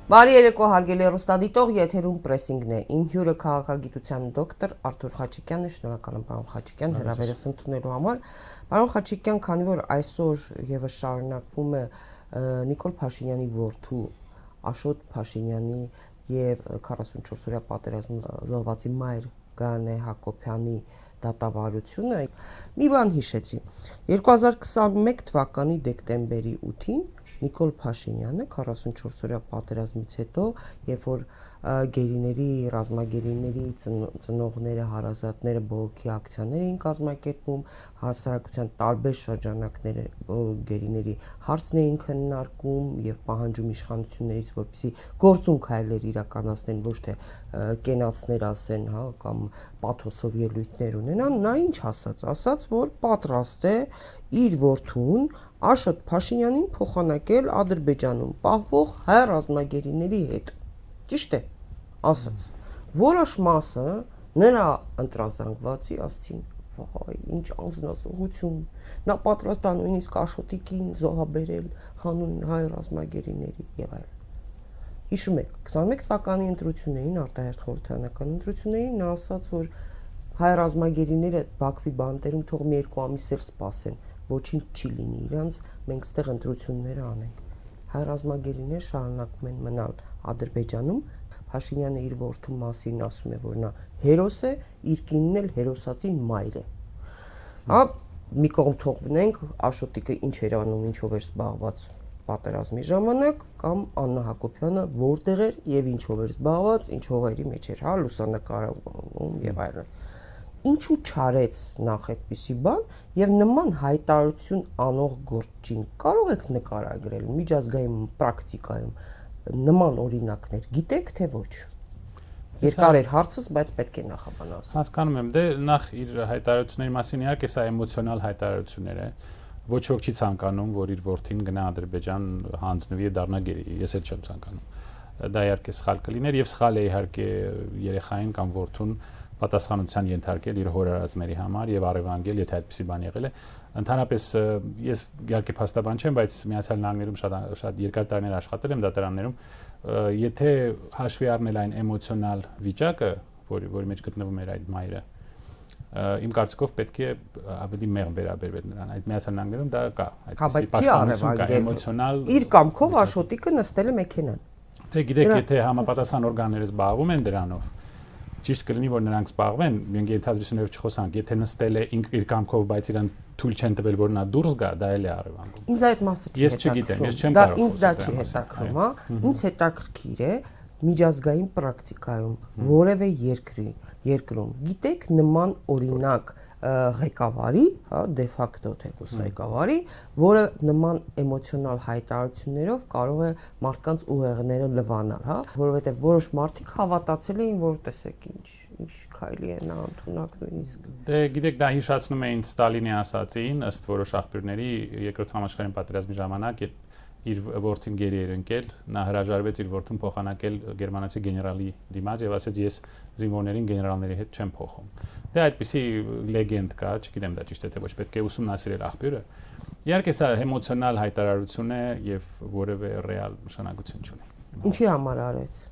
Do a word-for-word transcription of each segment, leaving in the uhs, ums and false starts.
Բարի երեկո հարգելի հեռուստադիտող, եթերում պրեսինգն է։ Իմ հյուրը քաղաքագիտության դոկտոր Արթուր Խաչիկյանն է, շնորհակալ եմ պարոն Խաչիկյան հրավերս ընդունելու համար։ Պարոն Խաչիկյան, քանի որ այսօր եւս շարունակվում է Նիկոլ Փաշինյանի որդու Աշոտ Փաշինյանի եւ քառասունչորս օրյա պատերազմում զոհվածի մայր Գայանե Հակոբյանի դատավարությունը, մի բան հիշեցի։ երկու հազար քսաներկու թվականի դեկտեմբերի ութին Նիկոլ Փաշինյանը քառասունչորս օրյա պատերազմից հետո, երբ որ գերիների, ռազմագերիների ծնողները, հարազատները բողոքի ակցիաներ էին կազմակերպում, հասարակության տարբեր շրջանակները գերիների հարցն էին քննարկում եւ պահանջում իշխանություններից, որպեսզի գործուն քայլեր իրականացնեն, ոչ թե կենացներ ասեն, հա, կամ պաթոսով ելույթներ ունենան, նա ինչ ասաց, ասաց, որ պատրաստ է իր որդուն Աշոտ Փաշինյանին փոխանակել Ադրբեջանում պահվող հայ ռազմագերիների հետ։ Ճիշտ է, ասաց։ Որոշ մասը նրա ընտրազանգվածի ասցին, վայ, ինչ անձնազոհություն։ Նա պատրաստ է նույնիսկ Աշոտի կին զոհաբերել հանուն հայ ռազմագերիների եւ այլն։ Հիշում եք, քսաներկու թվականի ընտրություններին, արտահերթ խորհրդարանական ընտրություններին նա ասաց, որ հայ ռազմագերիները Բաքվի բանտերում թող մի երկու ամիս էլ սպասեն, ոչինչ չի լինի իրանց, մենք ստեղ ընտրություններ անենք։ Հայ ռազմագերիները շարունակում են մնալ Ադրբեջանում, Փաշինյանը իր որդու մասին ասում է, որ նա հերոս է, իր կինն էլ հերոսացի մայր է։ Հա, մի կողմ թողնենք Աշոտիկը ինչ էր անում, ինչով էր զբաղված պատերազմի ժամանակ, կամ Աննա Հակոբյանը որտեղ էր եւ ինչով էր զբաղված, ինչ հողերի մեջ էր, հա, լուսանկարում եւ այլն։ Ինչու չարեց նախ այդպիսի բան եւ նման հայտարարություն անող գործին կարող եք նկարագրել միջազգային պրակտիկայում նման օրինակներ գիտեք թե ոչ։ Երկար էր հարցս, բայց պետք է նախաբան ասել։ Հասկանում եմ, դե նախ իր հայտարարությունների մասին իհարկե սա էմոցիոնալ հայտարարություններ է։ Ոչ ոք չի ցանկանում, որ իր որդին գնա Ադրբեջան հանձնվի եւ դառնա գերի, ես էլ չեմ ցանկանում։ Դա իհարկե սխալ կլիներ եւ սխալ է իհարկե երեխային կամ որդուն պատասխանության ենթարկել իր հորարածների համար եւ առևանգել, եթե այդպիսի բան եղել է։ Ընդհանրապես ես իհարկե փաստաբան չեմ, բայց Միացյալ Նահանգներում շատ շատ երկար տարիներ աշխատել եմ դատարաններում, եթե հաշվի առնել այն էմոցիոնալ վիճակը, որի որի մեջ գտնվում էր այդ մայրը, իմ կարծիքով պետք է ավելի մեղմ վերաբերվել նրան։ Այդ Միացյալ Նահանգներում դա կա, այդպիսի պաշտպանություն կա, էմոցիոնալ։ Իր կամքով Աշոտիկը նստել է մեքենան։ Թե գիտեք, եթե համապատասխան օրգանները զբաղվում են դրանով, ճիշտ կլինի, որ նրանք զբաղվեն, մենք ենթադրություններով չխոսանք, եթե նստել է իր կամքով, բայց իրան թույլ չեն տվել, որ նա դուրս գա, դա էլ է առևանգում։ Ինձ այդ մասը չի հետաքրքրում։ Ես չգիտեմ, ես չեմ կարող։ Ինձ դա չի հետաքրքրում, հա։ Ինձ հետաքրքիր է միջազգային պրակտիկայում որևէ երկրի երկրում գիտեք նման օրինակ ղեկավարի, հա, դե ֆակտո թեկուս ղեկավարի, որը նման էմոցիոնալ հայտարարություններով կարող է մարդկանց ուղեղները լվանալ, հա, որովհետև որոշ մարդիկ հավատացել էին, որ տեսեք ինչ ինչ քայլի է նա ընդունակ նույնիսկ։ Դե գիտեք, դա հիշացնում է ինձ Ստալինի ասածին, ըստ որոշ աղբյուրների երկրորդ համաշխարհային պատերազմի ժամանակ իր որդին գերի էր ընկել, նա հրաժարվեց իր որդուն փոխանակել գերմանացի գեներալի դիմաց եւ ասաց ես զինվորներին գեներալների հետ չեմ փոխում։ Դե այդպիսի լեգենդ կա, չգիտեմ դա ճիշտ է թե ոչ, պետք է ուսումնասիրել աղբյուրը։ Իհարկե սա էմոցիոնալ հայտարարություն է եւ որևէ ռեալ նշանակություն չունի։ Ինչի համար արեց։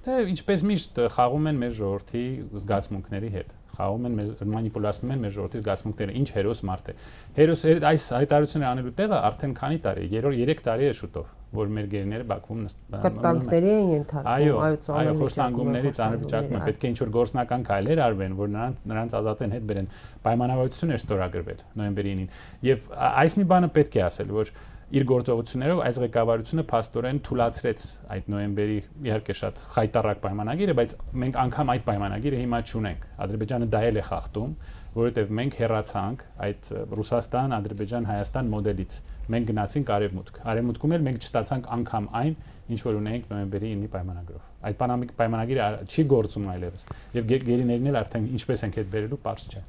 Դե ինչպես միշտ խաղում են մեր ժողովրդի զգացմունքների հետ։ Խաղում են մեր մանիպուլացնում են մեր ժողովրդի զգացմունքները, ինչ հերոս մարդ է։ Հերոս այս հայտարարությունները անելու տեղը արդեն քանի տարի, երեք տարի է շուտով, որ մեր գերիները Բաքվում կտանքների են ենթարկվում, այո, այո, խոշտանգումների ծանր վիճակում պետք է ինչ-որ գործնական քայլեր արվեն, որ նրանց նրանց ազատեն հետ բերեն։ Պայմանավորվածություն էր ստորագրվել նոյեմբերի ինին։ Եվ այս մի բանը պետք է ասել, որ իր գործողություններով այս ղեկավարությունը փաստորեն թույլատրեց այդ նոյեմբերի իհարկե շատ խայտառակ պայմանագիրը, բայց մենք անգամ այդ պայմանագիրը հիմա չունենք։ Ադրբեջանը դա էլ է խախտում, որովհետև մենք հեռացանք այդ Ռուսաստան, Ադրբեջան, Հայաստան մոդելից։ Մենք գնացինք արևմուտք։ Արևմուտքում էլ մենք չստացանք անգամ այն, ինչ որ ունեինք նոյեմբերի ինի պայմանագրով։ Այդ պայմանագիրը չի գործում այլևս։ Եվ գերիներն էլ արդեն ինչպես ենք հետ բերելու, պարզ չէ։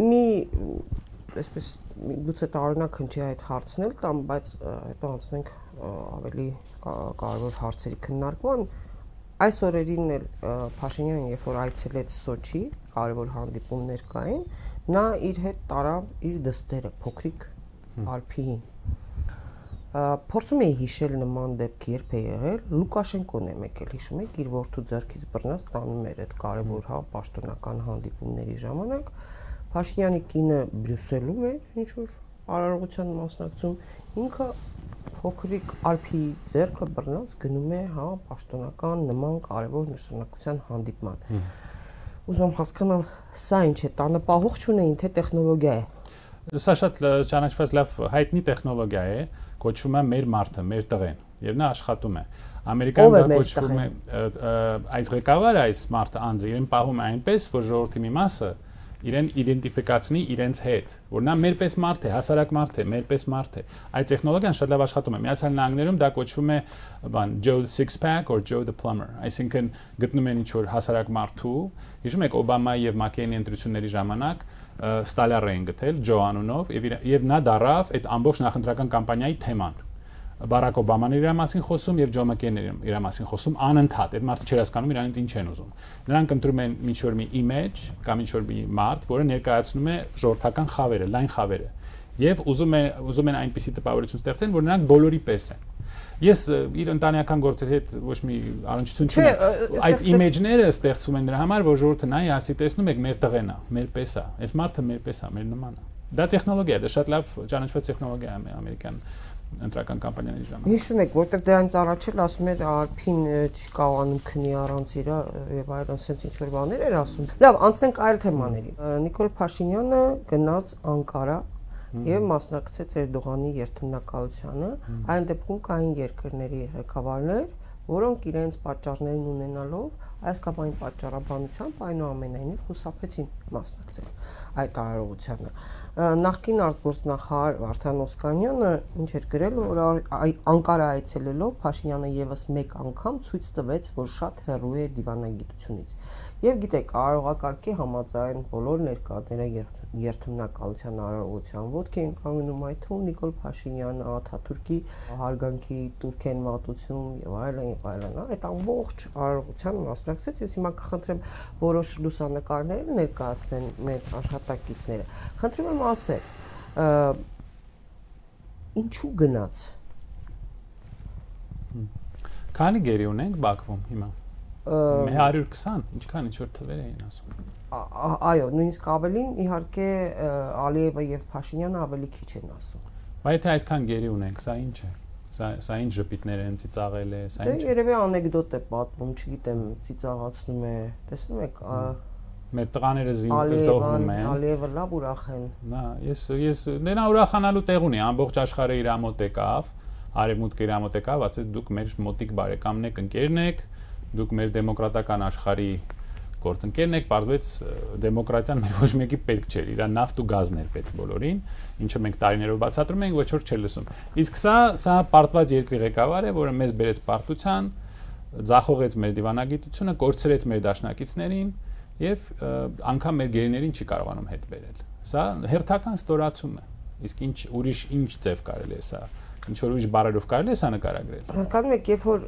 Մի այսպես գուցե տարօրինակ հնչի այդ հարցն էլ տամ, բայց հետո անցնենք ավելի կարևոր հարցերի քննարկման։ Այս օրերին էլ Փաշինյանը, երբ որ այցելեց Սոչի, կարևոր հանդիպումներ կային, նա իր հետ տարավ իր դստերը, փոքրիկ Արփիին։ Փորձում էի հիշել նման դեպք երբ է եղել, Լուկաշենկոն է եկել, հիշում եք, իր որդու ձեռքից բռնած տանում էր այդ կարևոր հա պաշտոնական հանդիպումների ժամանակ, Փաշինյանի կինը Բրյուսելում էր, ինչ որ արարողության մասնակցում, ինքը փոքրիկ Ալփի ձեռքը բռնած գնում է հա պաշտոնական նման կարևոր նշանակության հանդիպման։ Ուզում հասկանալ, սա ինչ է, տանը պահող չունեին, թե տեխնոլոգիա է։ Սա շատ ճանաչված լավ հայտնի տեխնոլոգիա է, կոչվում է մեր մարդը, մեր տղեն, եւ նա աշխատում է։ Ամերիկայում դա կոչվում է այս ղեկավարը, այս մարդը անձը իրեն պահում է այնպես, որ ժողովրդի մի մասը իրեն իդենտիֆիկացնի իրենց հետ, որ նա մերպես մարդ է, հասարակ մարդ է, մերպես մարդ է։ Այդ տեխնոլոգիան շատ լավ աշխատում է։ Միացյալ Նահանգներում դա կոչվում է բան Joe Six Pack or Joe the Plumber, այսինքն գտնում են ինչ-որ հասարակ մարդու, հիշում եք Օբամայի եւ Մակեյնի ընտրությունների ժամանակ Ստալյար էին գտել Ջո անունով եւ նա դարավ այդ ամբողջ նախընտրական կամպանիայի թեման։ Բարակ Օբաման իր մասին խոսում եւ Ջո Մակեյնը իր մասին խոսում անընդհատ։ Այդ մարդը չէր հասկանում իրանից ինչ են ուզում։ Նրանք ընտրում են ինչ-որ մի image կամ ինչ-որ մի մարդ, որը ներկայացնում է ժողովրդական խավերը, լայն խավերը։ Եվ ուզում են ուզում են այնպիսի տպավորություն ստեղծեն, որ նրանք բոլորի պես են։ Ես իր ընտանեկան գործերի հետ ոչ մի առնչություն չունեմ։ Այդ image-ները ստեղծում են նրա համար, որ ժողովուրդը նայի, ասի, տեսնում եք, մեր տղեն է, մեր պես է։ Այս մարդը մեր պես է, մեր նման է։ Դա տեխնոլոգիա է, դա շատ լավ ճանաչված տեխնոլոգիա է ամերիկյան ընտրական կամպանիաների ժամանակ։ Հիշում եք, որտեղ դրանից առաջ էլ ասում էր Ալփին չկարողանում քնի առանց իր եւ այլն, ասենց ինչ որ բաներ էր ասում։ Լավ, անցնենք այլ թեմաների։ Նիկոլ Փաշինյանը գնաց Անկարա եւ մասնակցեց Էրդողանի երթմնակալությանը։ Այն դեպքում կային երկրների ղեկավարներ, որոնք իրենց պատճառներն ունենալով այս կամ այն պատճառաբանությամբ այնուամենայնիվ խուսափեցին մասնակցել այդ արարողությանը։ Նախկին արտգործնախարար Վարդան Օսկանյանը ինչ էր գրել, որ Անկարա այցելելով Փաշինյանը եւս մեկ անգամ ցույց տվեց, որ շատ հեռու է դիվանագիտությունից։ Եվ գիտեք, արարողակարգի համաձայն բոլոր ներկաները երթմնակալության արարողության ոտքի են կանգնում, այդ թվում Նիկոլ Փաշինյանը, Աթաթուրքի հարգանքի Թուրքեն մատուցում եւ այլն եւ այլն, այդ ամբողջ արարողության մասնակցեց։ Ես հիմա կխնդրեմ որոշ լուսանկարներ ներկայացնեն մեր աշխատակիցները։ Խնդրում եմ ասել, ինչու գնաց։ Քանի գերի ունենք Բաքվում հիմա։ Մի հարյուր քսան, ինչքան ինչ որ թվեր էին ասում։ Այո, նույնիսկ ավելին իհարկե Ալիևը եւ Փաշինյանը ավելի քիչ են ասում։ Բայց եթե այդքան գերի ունենք, սա ինչ է։ Սա սա ինչ ժպիտներ են, ծիծաղել է, սա ինչ։ Դե երևի անեկդոտ է պատմում, չգիտեմ, ծիծաղացնում է։ Տեսնում եք, մեր տղաները զոհվում են։ Ալիևը լավ ուրախ են։ Նա, ես ես նրա ուրախանալու տեղ ունի, ամբողջ աշխարհը իր մոտ եկավ, արևմուտքը իր մոտ եկավ, ասեց դուք մեր մոտիկ բարեկամն եք, ընկերն եք, դուք մեր դեմոկրատական աշխարհի գործընկերն եք, պարզվեց դեմոկրատիան մեր ոչ մեկի պետք չէր, իր նավթ ու գազն էր պետք բոլորին, ինչը մենք տարիներով բացատրում ենք, ոչ որ չէր լսում։ Իսկ սա սա պարտված երկրի ղեկավար է, որը մեզ բերեց պարտության, ձախողեց մեր դիվանագիտությունը, կորցրեց մեր դաշնակիցներին եւ անգամ մեր գերիներին չի կարողանում հետ բերել։ Սա հերթական ստորացում է։ Իսկ ինչ ուրիշ ինչ ձև կարելի է սա ինչ որ ուրիշ բառերով կարելի է սա նկարագրել։ Հասկանում եք, երբ որ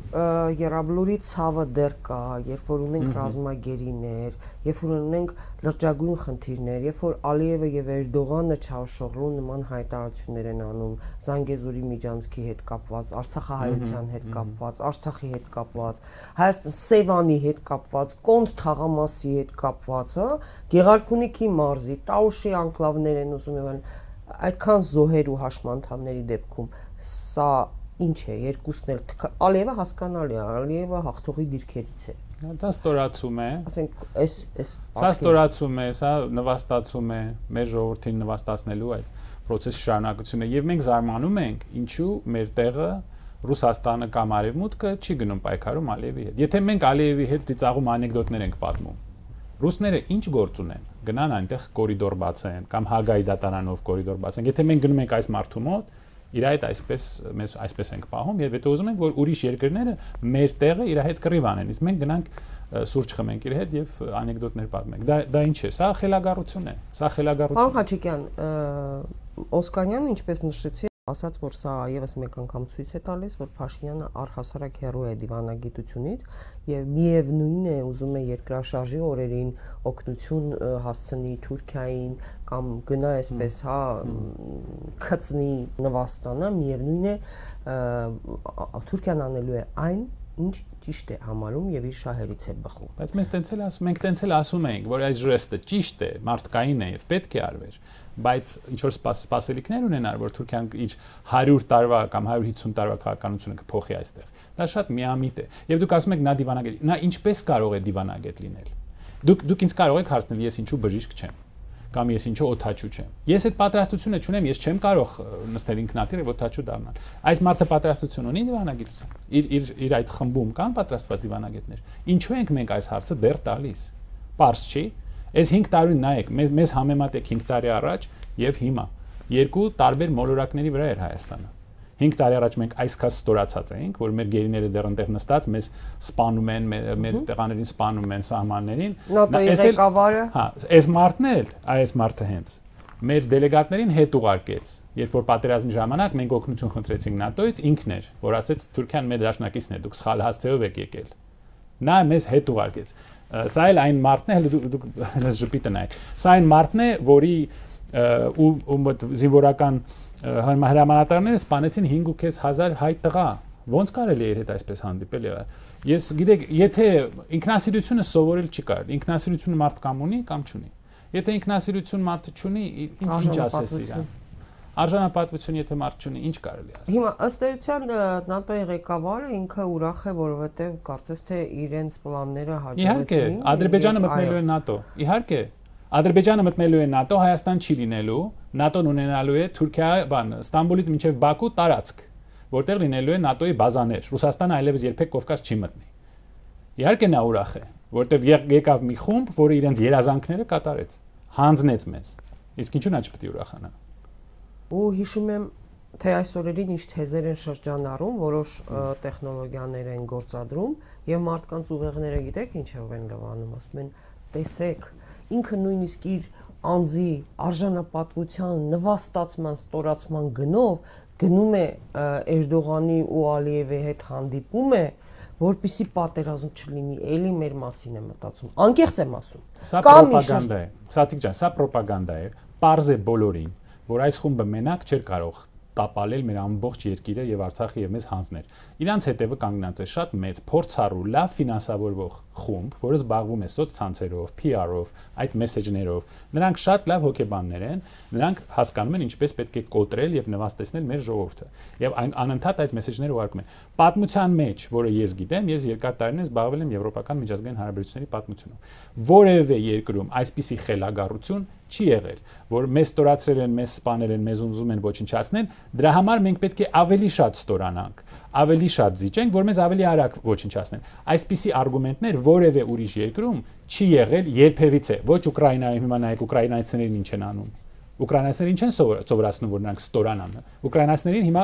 Եռաբլուրի ցավը դեռ կա, երբ որ ունենք ռազմագերիներ, երբ որ ունենք լրջագույն խնդիրներ, երբ որ Ալիևը եւ Էրդողանը Չավշօղլու նման հայտարարություններ են անում Զանգեզուրի միջանցքի հետ կապված, Արցախահայության հետ կապված, Արցախի հետ կապված, Հայաստան Սևանի հետ կապված, Կոնդ թաղամասի հետ կապված, հա, Գեղարքունիքի մարզի, Տաուշի անկլավներ են ուզում եղել, այդքան զոհեր ու հաշմանդամների դեպքում սա ինչ է, երկուսն էլ Ալիևը հասկանալի է, Ալիևը հաղթողի դիրքերից է։ Դա ստորացում է։ Ասենք, այս այս Սա ստորացում է, սա նվաստացում է մեր ժողովրդին նվաստացնելու այդ process-ի շարունակությունը եւ մենք զարմանում ենք, ինչու մեր տեղը Ռուսաստանը կամ Արևմուտքը չի գնում պայքարում Ալիևի հետ։ Եթե մենք Ալիևի հետ ծիծաղում անեկդոտներ ենք պատմում, ռուսները ինչ գործ ունեն, գնան այնտեղ կորիդոր բացեն կամ Հագայի դատարանով կորիդոր բացեն։ Եթե մենք գնում ենք այս մարդու մոտ, իր այդ այսպես մեզ այսպես ենք պահում եւ եթե ուզում ենք որ ուրիշ երկրները մեր տեղը իր հետ կռիվ անեն, իսկ մենք գնանք սուրճ խմենք իր հետ եւ անեկդոտներ պատմենք։ Դա դա ինչ է։ Սա խելագարություն է։ Սա խելագարություն։ Պարոն Խաչիկյան, Օսկանյանը ինչպես նշեցի ասաց, որ սա եւս մեկ անգամ ցույց է տալիս, որ Փաշինյանը առհասարակ հեռու է դիվանագիտությունից եւ միևնույն է ուզում է երկրաշարժի օրերին օգնություն հասցնի Թուրքիային կամ գնա այսպես, հա, քծնի նվաստանա, միևնույն է Թուրքիան անելու է այն, ինչ ճիշտ է համարում եւ իր շահերից է բխում։ Բայց մենք տենց էլ ասում, մենք տենց էլ ասում ենք, որ այս ժեստը ճիշտ է, մարդկային է եւ պետք է արվեր, բայց ինչ որ սպասելիքներ ունենար, որ Թուրքիան իր հարյուր տարվա կամ հարյուր հիսուն տարվա քաղաքականությունը կփոխի այստեղ։ Դա շատ միամիտ է։ Եվ դուք ասում եք նա դիվանագետ, նա ինչպես կարող է դիվանագետ լինել։ Դուք դուք ինձ կարող եք հարցնել, ես ինչու բժիշկ չեմ կամ ես ինչու օթաչու չեմ։ Ես այդ պատրաստությունը չունեմ, ես չեմ կարող նստել ինքնաթիռ եւ օթաչու դառնալ։ Այս մարդը պատրաստություն ունի դիվանագիտության։ Իր իր իր այդ խմբում կան պատրաստված դիվանագետներ։ Ինչու ենք մենք այս հարցը դեռ տալիս։ Պարզ չի։ Այս հինգ տարին նայեք, մեզ մեզ համեմատեք հինգ տարի առաջ եւ հիմա։ Երկու տարբեր մոլորակների վրա էր Հայաստանը։ հինգ տարի առաջ մենք այսքան ստորացած էինք, որ մեր գերիները դեռ այնտեղ նստած մեզ սպանում են, մեր տեղաներին սպանում են սահմաններին։ ՆԱՏՕ-ի ղեկավարը։ Հա, այս մարդն էլ, այս մարդը հենց մեր դելեգատներին հետ ուղարկեց, երբ որ պատերազմի ժամանակ մենք օգնություն խնդրեցինք ՆԱՏՕ-ից, ինքն էր, որ ասեց Թուրքիան մեր դաշնակիցն է, դուք սխալ հասցեով եք եկել։ Նա մեզ հետ ուղարկեց։ Սա էլ այն մարդն է, հələ դուք հենց ժպիտը նայեք։ Սա այն մարդն է, որի ու զինվորական հրամանատարները սպանեցին հինգ ու քեզ հազար հայ տղա։ Ոնց կարելի է իր հետ այսպես հանդիպել։ Ես գիտեք, եթե ինքնասիրությունը սովորել չկար, ինքնասիրությունը մարդ կամ ունի կամ չունի։ Եթե ինքնասիրություն մարդը չունի, ինչ ասես իրան։ Արժանապատվություն եթե մարդ չունի, ինչ կարելի ասել։ Հիմա ըստ էության ՆԱՏՕ-ի ղեկավարը ինքը ուրախ է, որովհետև կարծես թե իրենց պլանները հաջողեցին։ Իհարկե, Ադրբեջանը մտնելու է ՆԱՏՕ։ Իհարկե, Ադրբեջանը մտնելու է ՆԱՏՕ, Հայաստան չի լինելու, ՆԱՏՕ-ն ունենալու է Թուրքիա, բան, Ստամբուլից մինչև Բաքու տարածք, որտեղ լինելու է ՆԱՏՕ-ի բազաներ։ Ռուսաստանը այլևս երբեք Կովկաս չի մտնի։ Իհարկե նա ուրախ է, որտեղ եկավ մի խումբ, որը իրենց երազանքները կատարեց, հանձնեց մեզ։ Իսկ ինչու նա չպետք է ուրախանա։ Ու հիշում եմ, թե այս օրերին ինչ թեզեր են շրջանառում, որոշ տեխնոլոգիաներ են գործադրում եւ մարդկանց ուղեղները գիտեք ինչով են լվանում, ասում են, տեսեք, ինքը նույնիսկ իր անձի արժանապատվության նվաստացման, ստորացման գնով գնում է Էրդողանի ու Ալիևի հետ հանդիպում է, որպեսզի պատերազմ չլինի, էլի մեր մասին է մտածում։ Անկեղծ եմ ասում։ Սա պրոպագանդա է։ Սաթիկ ջան, սա պրոպագանդա է։ Պարզ է բոլորին, որ այս խումբը մենակ չէր կարող տապալել մեր ամբողջ երկիրը եւ Արցախը եւ մեզ հանձներ։ Իրանց հետևը կանգնած է շատ մեծ, փորձառու, լավ ֆինանսավորվող խումբ, որը զբաղվում է սոցցանցերով, P R-ով, այդ մեսեջներով։ Նրանք շատ լավ հոգեբաններ են, նրանք հասկանում են ինչպես պետք է կոտրել եւ նվաստեցնել մեր ժողովուրդը։ Եվ անընդհատ այս մեսեջները ուղարկում են։ Պատմության մեջ, որը ես գիտեմ, ես երկար տարիներ զբաղվել եմ եվրոպական միջազգային հարաբերությունների պատմությունով։ Որևէ երկրում այսպիսի խելագարություն չի եղել, որ մեզ ստորացրել են, մեզ սպանել են, մեզ ուզում են ոչնչացնել, դրա համար մենք պետք է ավելի շատ ստորանանք, ավելի շատ զիջենք, որ մեզ ավելի արագ ոչնչացնեն։ Այսպիսի արգումենտներ որևէ ուրիշ երկրում չի եղել երբևիցե։ Ոչ Ուկրաինայում, հիմա նայեք ուկրաինացիներին ինչ են անում։ Ուկրաինացիներին ինչ են սովորացնում, որ նրանք ստորանան։ Ուկրաինացիներին հիմա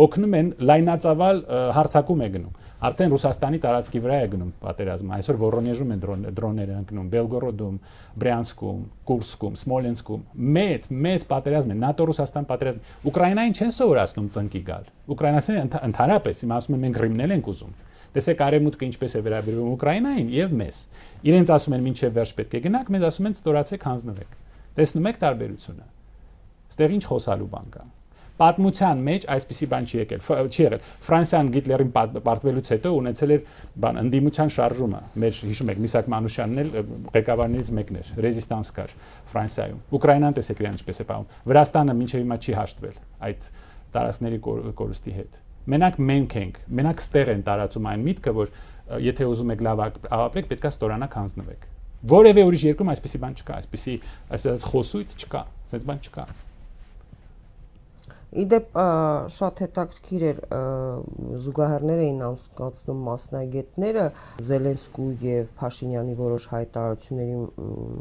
օգնում են լայնածավալ հարձակում է գնում։ Արդեն Ռուսաստանի տարածքի վրա է գնում պատերազմը։ Այսօր Վորոնեժում են դրոններ ընկնում, Բելգորոդում, Բրյանսկում, Կուրսկում, Սմոլենսկում։ Մեծ, մեծ պատերազմ է, ՆԱՏՕ-Ռուսաստան պատերազմ։ Ուկրաինային չեն սովորացնում ծնկի գալ։ Ուկրաինացիները ընդհանրապես, հիմա ասում են մենք Ռիմնել ենք ուզում։ Տեսեք արևմուտքը ինչպես է վերաբերվում Ուկրաինային եւ մեզ։ Իրենց ասում են մինչեւ վերջ պետք է գնանք, մեզ ասում են ստորացեք, հանձնվեք։ Տեսնում եք տարբերությունը։ Ստեղ ինչ խոսալու բան կա։ Պատմության մեջ այսպիսի բան չի եկել, չի եղել։ Ֆրանսիան Հիտլերին պարտվելուց հետո ունեցել էր բան ընդդիմության շարժումը։ Մեր հիշում եք Միսակ Մանուշյանն էլ ղեկավարներից մեկն էր, ռեզիստանս կար Ֆրանսիայում։ Ուկրաինան տեսեք իրան ինչպես է պահում։ Վրաստանը մինչև հիմա չի հաշտվել այդ տարածքների կորուստի հետ։ Մենակ մենք ենք, մենակ ստեղ են տարածում այն միտքը, որ եթե ուզում եք լավ ապրեք, պետք է ստորանաք, հանձնվեք։ Որևէ ուրիշ երկրում այսպիսի բան չկա, այսպիսի այսպես խոսույթ չկա, այսպես բան չկա։ Իդեպ շատ հետաքրքիր էր զուգահեռներ էին անցկացնում մասնագետները Զելենսկու եւ Փաշինյանի որոշ հայտարարությունների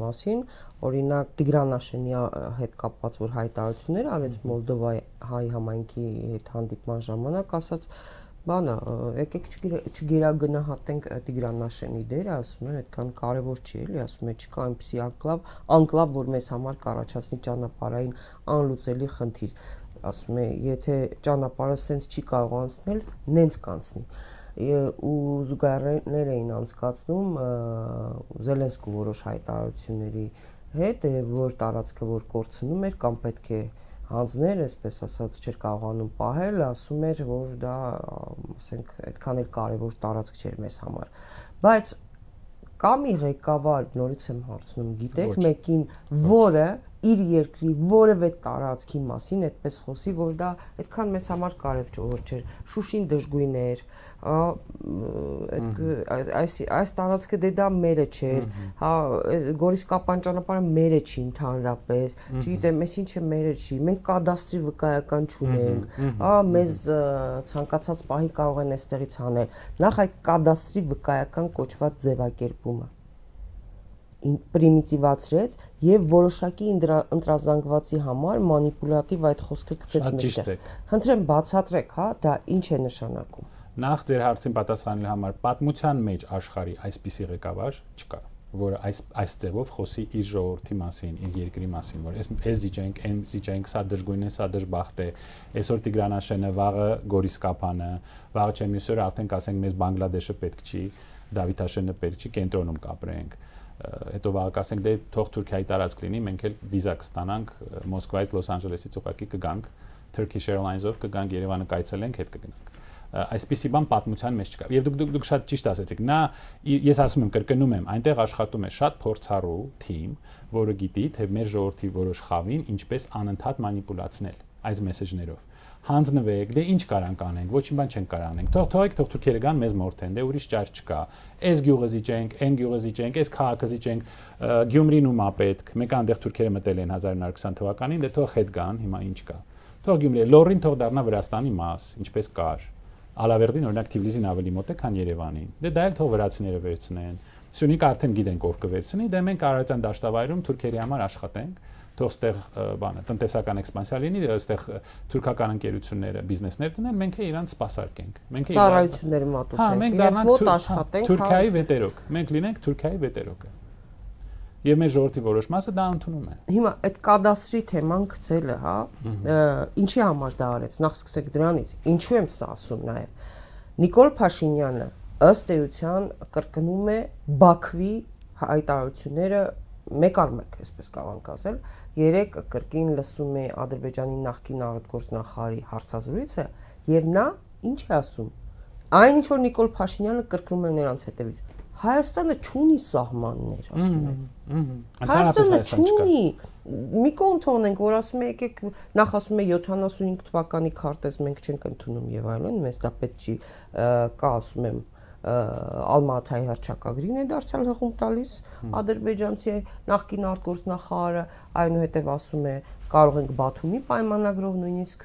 մասին, օրինակ Տիգրան Աշենյանի հետ կապված որ հայտարարություններ արեց Մոլդովայի հայ համայնքի հետ հանդիպման ժամանակ, ասաց բանը, եկեք չգերագնահատենք Տիգրան Աշենի դերը, ասում են, այդքան կարևոր չի էլի, ասում են, չկա այնպիսի անկլավ, անկլավ, որ մեզ համար կառաջացնի ճանապարհային անլուծելի խնդիր։ ասում է, եթե ճանապարհը սենց չի կարող անցնել, նենց կանցնի։ Ու զուգահեռներ էին անցկացնում Զելենսկու որոշ հայտարարությունների հետ, որ տարածքը որ կորցնում էր կամ պետք է հանձներ, այսպես ասած, չէր կարողանում պահել, ասում էր, որ դա, ասենք, այդքան էլ կարևոր տարածք չէր մեզ համար։ Բայց կա մի ղեկավար, նորից եմ հարցնում, գիտեք մեկին, որը իր երկրի որևէ տարածքի մասին այդպես խոսի, որ դա այդքան մեզ համար կարևոր չէր։ Շուշին դժգույն էր, այս այս տարածքը դե դա մերը չէր, հա, Գորիսկապան ճանապարհը մերը չի ընդհանրապես, չգիտեմ, ես ինչը մերը չի, մենք կադաստրի վկայական չունենք, հա, մեզ ցանկացած պահի կարող են այստեղից հանել։ Նախ այդ կադաստրի վկայական կոչված ձևակերպումը պրիմիտիվացրեց եւ որոշակի ընտրազանգվածի համար մանիպուլատիվ այդ խոսքը գցեց մեջտեղ։ Խնդրեմ բացատրեք, հա, դա ինչ է նշանակում։ Նախ ձեր հարցին պատասխանելու համար պատմության մեջ աշխարհի այսպիսի ղեկավար չկա, որը այս այս ձևով խոսի իր ժողովրդի մասին, իր երկրի մասին, որ այս այս դիջենք, այն դիջենք, սա դժգույն է, սա դժբախտ է, այսօր Տիգրանաշենը, վաղը Գորիսկապանը, վաղը չէ մյուսօրը արդեն կասենք մեզ Բանգլադեշը պետք չի, Դավիթաշենը պետք չի, կենտրոնում կապրենք։ Հետո վաղը կասենք դե թող Թուրքիայի տարածք լինի, մենք էլ վիզա կստանանք Մոսկվայից Լոս Անջելեսից ուղղակի կգանք Turkish Airlines-ով կգանք Երևանը կայցելենք, հետ կգնանք։ Այսպիսի բան պատմության մեջ չկա։ Եվ դուք դուք շատ ճիշտ ասեցիք։ Նա ես ասում եմ, կրկնում եմ, այնտեղ աշխատում է շատ փորձառու թիմ, որը գիտի, թե մեր ժողովրդի որոշ խավին ինչպես անընդհատ մանիպուլացնել այս մեսեջներով։ Հանձնվեք, դե ինչ կարանք անենք, ոչ մի բան չենք կարող անենք։ Թող թողեք, թող թուրքերը գան մեզ մորթեն, դե ուրիշ ճար չկա։ Այս գյուղը զիջենք, այն գյուղը զիջենք, այս քաղաքը զիջենք, Գյումրին ումա պետք։ Մեկ այնտեղ թուրքերը մտել են հազար նորը քսան թվականին, դե թող հետ գան, հիմա ինչ կա։ Թող Գյումրի, Լոռին թող դառնա Վրաստանի մաս, ինչպես կար։ Ալավերդին օրինակ Թիֆլիսին ավելի մոտ է, քան Երևանին։ Դե դա էլ թող վրացիները վերցնեն։ Սյունիքը արդեն գիտենք ով կվերցնի, դե մենք Արարատյան դաշտավայրում թուրքերի համար աշխատենք, թող ստեղ բանը տնտեսական էքսպանսիա լինի, այստեղ թուրքական ընկերությունները բիզնեսներ տնեն, մենք է իրանց սպասարկենք։ Մենք է ծառայությունները մատուցենք, իրենց մոտ աշխատենք, Թուրքիայի վետերոք։ Մենք լինենք Թուրքիայի վետերոկը։ Եվ մեր ժողովրդի որոշ մասը դա ընդունում է։ Հիմա այդ կադաստրի թեման գցելը, հա, ինչի համար դա արեց։ Նախ սկսեք դրանից։ Ինչու եմ սա ասում նաև։ Նիկոլ Փաշինյանը ըստ էության կրկնում է Բաքվի հայտարարությունները մեկ առ մեկ, այսպես կարող ենք ասել, երեք կրկին լսում է Ադրբեջանի նախկին արտգործնախարարի հարցազրույցը եւ նա ինչ է ասում։ Այն ինչ որ Նիկոլ Փաշինյանը կրկնում է նրանց հետևից։ Հայաստանը չունի սահմաններ, ասում է։ Հայաստանը չունի։ Մի կողմ թողնենք, որ ասում է եկեք, նախ ասում է յոթանասունհինգ թվականի քարտեզ մենք չենք ընդունում եւ այլն, մեզ դա պետք չի, կա ասում եմ Ալմատայի հռչակագրին է դարձյալ հղում տալիս ադրբեջանցի նախկին արտգործնախարարը, այնուհետև ասում է կարող ենք Բաթումի պայմանագրով նույնիսկ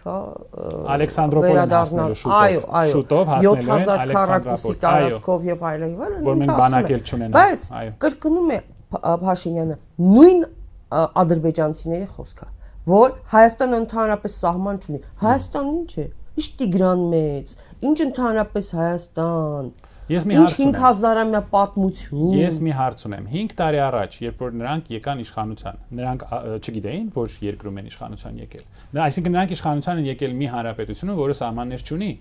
Ալեքսանդրոպոլին հասնելու շուտով, շուտով հասնելու են Ալեքսանդրոպոլի տարածքով եւ այլն եւ այլն, որ մենք բանակել չունենանք, բայց կրկնում է Փաշինյանը նույն ադրբեջանցիների խոսքը, որ Հայաստանը ընդհանրապես սահման չունի։ Հայաստանն ինչ է։ Ինչ Տիգրան մեծ, ինչ ընդհանրապես Հայաստան։ Ես մի հարց ունեմ։ հինգ հազարամյա պատմություն։ Ես մի հարց ունեմ։ հինգ տարի առաջ, երբ որ նրանք եկան իշխանության, նրանք չգիտեին, որ երկրում են իշխանության եկել։ Այսինքն նրանք իշխանության են եկել մի հանրապետությունում, որը սահմաններ չունի,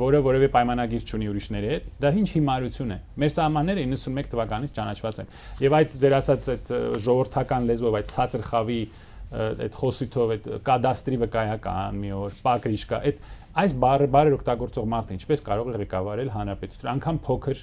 որը որևէ պայմանագիր չունի ուրիշների հետ։ Դա ինչ հիմարություն է։ Մեր սահմանները իննսունմեկ թվականից ճանաչված են։ Եւ այդ ձեր ասած այդ ժողովրդական լեզվով, այդ ցածր խավի այդ խոսիթով, այդ կադաստրի վկայական մի օր, պակրիշկա, այդ այս բառը բառեր օգտագործող մարդը ինչպես կարող է ղեկավարել հանրապետություն, անգամ փոքր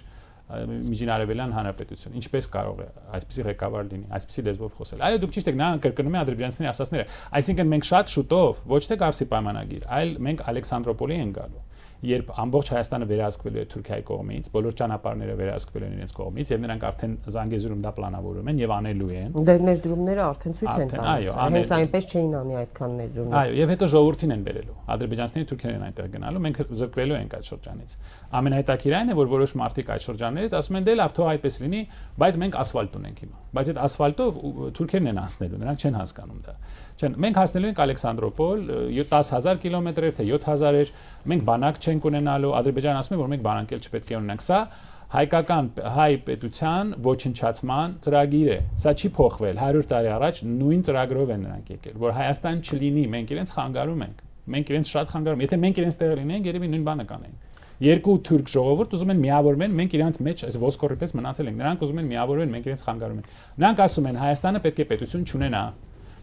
միջինարևելյան հանրապետություն, ինչպես կարող է այսպիսի ղեկավար լինի, այսպիսի լեզվով խոսել։ Այո, դուք ճիշտ եք, նա կրկնում է ադրբեջանցիների ասածները, այսինքն մենք շատ շուտով ոչ թե Կարսի պայմանագիր, այլ մենք Ալեքսանդրոպոլի ենք գալու, երբ ամբողջ Հայաստանը վերահսկվելու է Թուրքիայի կողմից, բոլոր ճանապարհները վերահսկվելու են իրենց կողմից եւ նրանք արդեն Զանգեզուրում դա պլանավորում են եւ անելու են։ Դե ներդրումները արդեն ցույց են տալիս։ Հենց այնպես չէին անի այդքան ներդրումներ։ Այո, եւ հետո ժողովրդին են բերելու։ Ադրբեջանցիները թուրքերեն են այնտեղ գնալու, մենք զրկվելու ենք այդ շրջանից։ Ամենահետաքրքիրն է, որ որոշ մարդիկ այդ շրջաններից ասում են դե լավ, թող այդպես լինի, բայց մենք ասֆալտ ունենք հիմա։ Բայց այդ ասֆալտով թուրքերն են անցնելու, նրանք չեն հասկանում դա։ Չեն, մենք հասնելու ենք Ալեքսանդրոպոլ, դես հազար կիլոմետր էր, թե յոթ հազար էր, մենք բանակ չենք ունենալու, Ադրբեջանը ասում է, որ մենք բանակ էլ չպետք է ունենանք։ Սա հայկական հայ պետության ոչնչացման ծրագիր է։ Սա չի փոխվել։ հարյուր տարի առաջ նույն ծրագրով են նրանք եկել, որ Հայաստան չլինի, մենք իրենց խանգարում ենք։ Մենք իրենց շատ խանգարում, եթե մենք իրենց տեղը լինենք, երևի նույն բանը կանենք։ Երկու թուրք ժողովուրդ ուզում են միավորվեն, մենք իրենց մեջ այս ոսկորի պես մնացել ենք։ Նրանք ուզում են միավորվեն, մենք իրենց խանգարում ենք։ Նրանք ասում են Հայաստանը պետք է պետություն չունենա։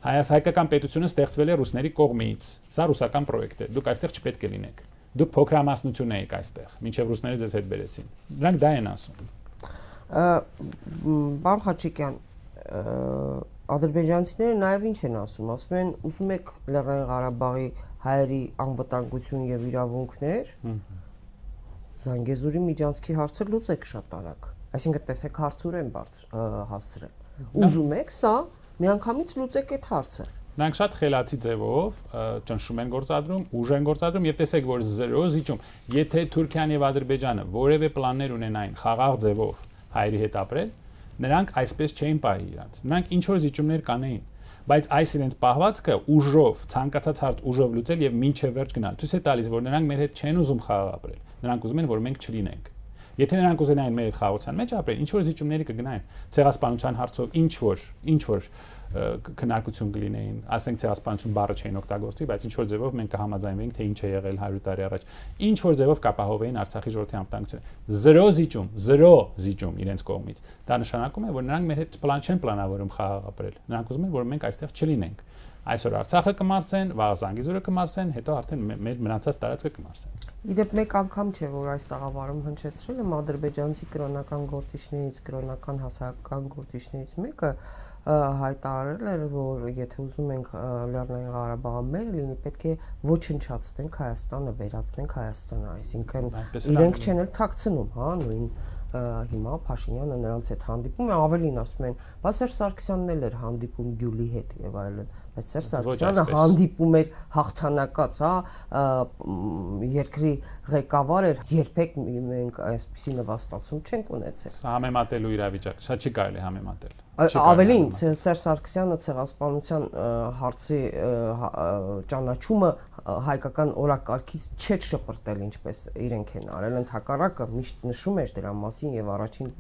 Հայաց հայկական պետությունը ստեղծվել է ռուսների կողմից։ Սա ռուսական պրոյեկտ է։ Դուք այստեղ չպետք է լինեք։ Դուք փոքրամասնություն եք այստեղ, մինչև ռուսները ձեզ հետ բերեցին։ Նրանք դա են ասում։ Պարոն Խաչիկյան, ադրբեջանցիները նաև ինչ են ասում, ասում են, ուզում եք Լեռնային Ղարաբաղի հայերի անվտանգություն եւ իրավունքներ, Զանգեզուրի միջանցքի հարցը լուծեք շատ արագ։ Այսինքն տեսեք հարցուրեն բարձր հասցրել։ Ուզում եք սա, միանգամից լուծեք այդ հարցը։ Նրանք շատ խելացի ձևով ճնշում են գործադրում, ուժ են գործադրում եւ տեսեք, որ զրո զիջում, եթե Թուրքիան եւ Ադրբեջանը որևէ պլաններ ունենային խաղաղ ձևով հայերի հետ ապրել, նրանք այսպես չէին պահի իրաց։ Նրանք ինչ որ զիջումներ կանեին, բայց այս իրենց պահվածքը ուժով, ցանկացած հարց ուժով լուծել եւ մինչեւ վերջ գնալ։ Ցույց է տալիս, որ նրանք մեր հետ չեն ուզում խաղաղ ապրել։ Նրանք ուզում են, որ մենք չլինենք։ Եթե նրանք ուզենային մեր հետ խաղաղության մեջ ապրել, ինչ որ զիջումների կգնային, ցեղասպանության հարցով ինչ որ, ինչ որ քննարկություն կլինեին, ասենք ցեղասպանություն բառը չէին օգտագործի, բայց ինչ որ ձևով մենք կհամաձայնվեինք, թե ինչ է եղել հարյուր տարի առաջ, ինչ որ ձևով կապահովեին Արցախի ժողովրդի անվտանգությունը։ Զրո զիջում, զրո զիջում իրենց կողմից։ Դա նշանակում է, որ նրանք մեր հետ պլան չեն պլանավորում խաղաղ ապրել։ Նրանք ուզում են, որ մենք այստեղ չլինենք։ Այսօր Արցախը կմարսեն, վաղ Զանգեզուրը կմարսեն, հետո արդեն մեր մնացած տարածքը կմարսեն։ Իդեպ մեկ անգամ չէ, որ այս տաղավարում հնչեցրել եմ ադրբեջանցի կրոնական գործիչներից, կրոնական հասարակական գործիչներից մեկը հայտարարել էր, որ եթե ուզում ենք Լեռնային Ղարաբաղը մեր լինի, պետք է ոչնչացնենք Հայաստանը, վերացնենք Հայաստանը, այսինքն իրենք չեն էլ թաքցնում, հա, նույն հիմա Փաշինյանը նրանց հետ հանդիպում է, ավելին ասում են, բայց Սերժ Սարգսյանն էլ էր հանդիպում Գյուլի հետ եւ այլն, բայց Սերժ Սարգսյանը հանդիպում էր հաղթանակած, հա, երկրի ղեկավար էր, երբեք մենք այսպիսի նվաստացում չենք ունեցել։ Սա համեմատելու իրավիճակ, սա չի կարելի համեմատել։ Ավելին Սերժ Սարգսյանը ցեղասպանության հարցի ճանաչումը հայկական օրակարգից չէ շպրտել, ինչպես իրենք են արել, ընդհակառակը միշտ նշում էր դրա մասին եւ առաջին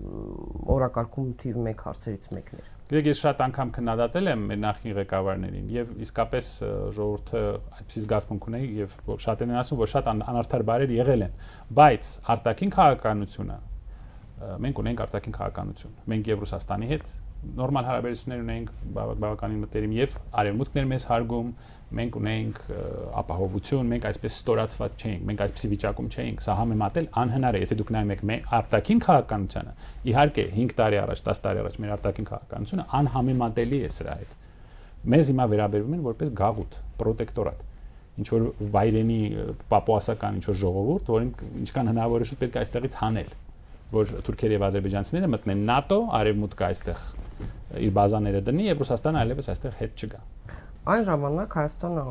օրակարգում թիվ մեկ հարցերից մեկն էր։ Գիտեք, ես շատ անգամ քննադատել եմ մեր նախին ղեկավարներին եւ իսկապես ժողովուրդը այդպիսի զգացմունք ունի եւ շատերն են ասում, որ շատ անարդար բարեր եղել են, բայց արտաքին քաղաքականությունը մենք ունենք արտաքին քաղաքականություն։ Մենք եւ Ռուսաստանի հետ նորմալ հարաբերություններ ունենք բավականին մտերիմ եւ արևմուտքն էր մեզ հարգում, մենք ունենք ապահովություն, մենք այսպես ստորացված չէինք, մենք այսպիսի վիճակում չէինք, սա համեմատել անհնար է, եթե դուք նայում եք մեր արտաքին քաղաքականությանը, իհարկե հինգ տարի առաջ, դաս տարի առաջ մեր արտաքին քաղաքականությունը անհամեմատելի է սրա հետ։ Մեզ հիմա վերաբերվում են որպես գաղութ, պրոտեկտորատ, ինչ որ վայրենի պապուասական ինչ որ ժողովուրդ, որին ինչքան հնարավոր է շուտ պետք է այստեղից հանել, որ թուրքերը եւ ադրբեջանցիները մտնեն ՆԱՏՕ, արևմուտքը այստեղ իր բազաները դնի եւ Ռուսաստանը այլևս այստեղ հետ չգա։ Այն ժամանակ Հայաստանը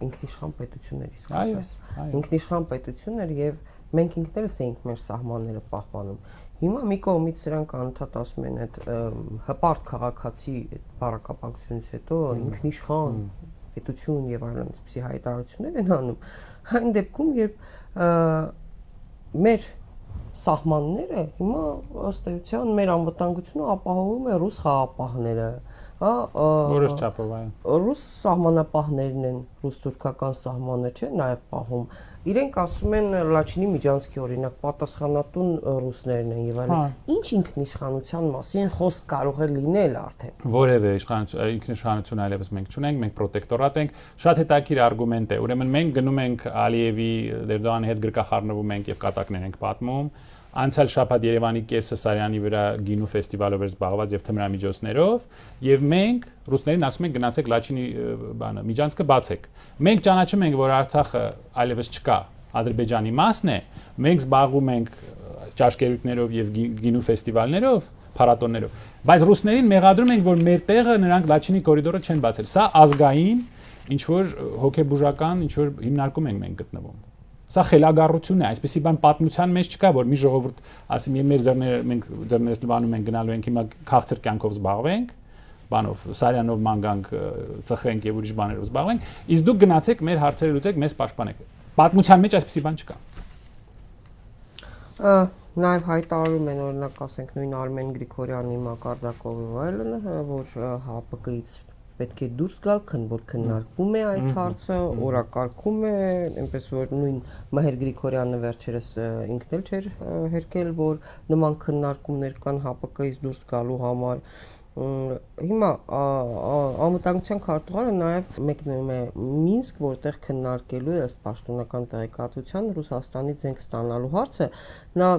ինքնիշխան պետություն էր իսկապես։ Ինքնիշխան պետություն էր եւ մենք ինքներս էինք մեր սահմանները պահպանում։ Հիմա մի կողմից սրանք անընդհատ ասում են այդ հպարտ քաղաքացի բառակապակցությունից հետո ինքնիշխան պետություն եւ այլն այսպիսի հայտարարություններ են անում։ Այն դեպքում, երբ մեր սահմանները հիմա ըստ էության մեր անվտանգությունը ապահովում է ռուս խաղապահները, հա, որոշ չափով այո։ Ռուս սահմանապահներն են, ռուս-թուրքական սահմանը չէ, նաև պահում։ Իրենք ասում են Լաչինի միջանցքի օրինակ պատասխանատուն ռուսներն են եւ այլն։ Ինչ ինքնիշխանության մասին խոսք կարող է լինել արդեն։ Որևէ իշխանություն, ինքնիշխանություն այլևս մենք չունենք, մենք պրոտեկտորատ ենք։ Շատ հետաքրքիր արգումենտ է։ Ուրեմն մենք գնում ենք Ալիևի, Էրդողանի հետ գրկախառնվում ենք եւ կատակներ ենք պատմում։ Անցյալ շաբաթ Երևանի կեսը Սարյանի վրա գինու ֆեստիվալով էր զբաղված եւ թմրամիջոցներով եւ մենք ռուսներին ասում ենք գնացեք Լաչինի բանը միջանցքը բացեք։ Մենք ճանաչում ենք, որ Արցախը այլևս չկա, Ադրբեջանի մասն է, մենք զբաղվում ենք ճաշկերույթներով եւ գինու ֆեստիվալներով, փառատոներով, բայց ռուսներին մեղադրում ենք, որ մեր տեղը նրանք Լաչինի կորիդորը չեն բացել։ Սա ազգային ինչ որ հոգեբուժական ինչ որ հիմնարկում ենք մենք գտնվում։ Սա խելագարություն է, այսպեսի բան պատմության մեջ չկա, որ մի ժողովուրդ ասի մեր ձեռները մենք ձեռներս լվանում ենք գնալու ենք հիմա քաղցր կյանքով զբաղվենք, բանով Սարյանով մանգանք ծխենք եւ ուրիշ բաներով զբաղվենք, իսկ դուք գնացեք մեր հարցերը լուծեք, մեզ պաշտպանեք։ Պատմության մեջ այսպեսի բան չկա։ Նաև հայտարարում են օրինակ ասենք նույն Արմեն Գրիգորյանի, Մակարդակովի ու այլն, որ ՀԱՊԿ-ից պետք է դուրս գալ, քան որ քննարկվում է այդ հարցը, օրակարգում է, այնպես որ նույն Մհեր Գրիգորյանը վերջերս ինքն էլ չէր հերքել, որ նման քննարկումներ կան ՀԱՊԿ-ից դուրս գալու համար։ Հիմա անվտանգության քարտուղարը նաև մեկնում է Մինսկ, որտեղ քննարկելու է ըստ պաշտոնական տեղեկատվության Ռուսաստանից զենք ստանալու հարցը։ Նա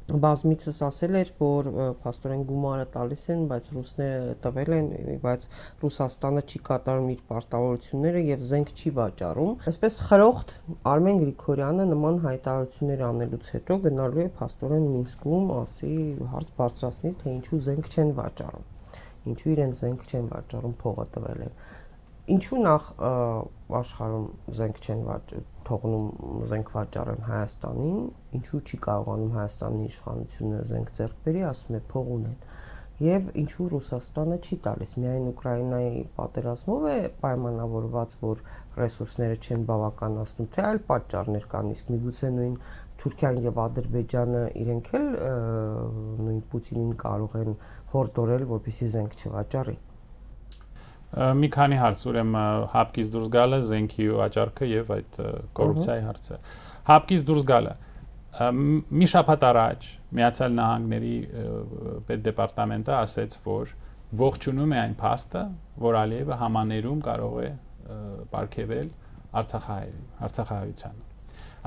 բազմիցս ասել էր, որ փաստորեն գումարը տալիս են, բայց ռուսները տվել են, բայց Ռուսաստանը չի կատարում իր պարտավորությունները եւ զենք չի վաճառում։ Այսպես խրոխտ Արմեն Գրիգորյանը նման հայտարարություններ անելուց հետո գնալու է փաստորեն Մինսկում, ասի հարց բարձրացնի, թե ինչու զենք չեն վաճառում։ Ինչու իրեն զենք չեն վաճառում, փողը տվել են։ Ինչու նախ աշխարհում զենք չեն թողնում զենք վաճառեն Հայաստանին, ինչու չի կարողանում Հայաստանի իշխանությունը զենք ձեռք բերի, ասում է փող ունեն։ Եվ ինչու Ռուսաստանը չի տալիս, միայն Ուկրաինայի պատերազմով է պայմանավորված, որ ռեսուրսները չեն բավականացնում, թե այլ պատճառներ կան, իսկ միգուցե նույն Թուրքիան եւ Ադրբեջանը իրենք էլ նույն Պուտինին կարող են հորդորել, որպեսզի զենք չվաճառի։ Մի քանի հարց, ուրեմն ՀԱՊԿ-ից դուրս գալը, զենքի վաճառքը եւ այդ կոռուպցիայի հարցը։ ՀԱՊԿ-ից դուրս գալը մի շաբաթ առաջ Միացյալ Նահանգների պետդեպարտամենտը ասաց, որ ողջունում է այն փաստը, որ Ալիևը համաներում կարող է պարգևել Արցախահայերին, Արցախահայությանը։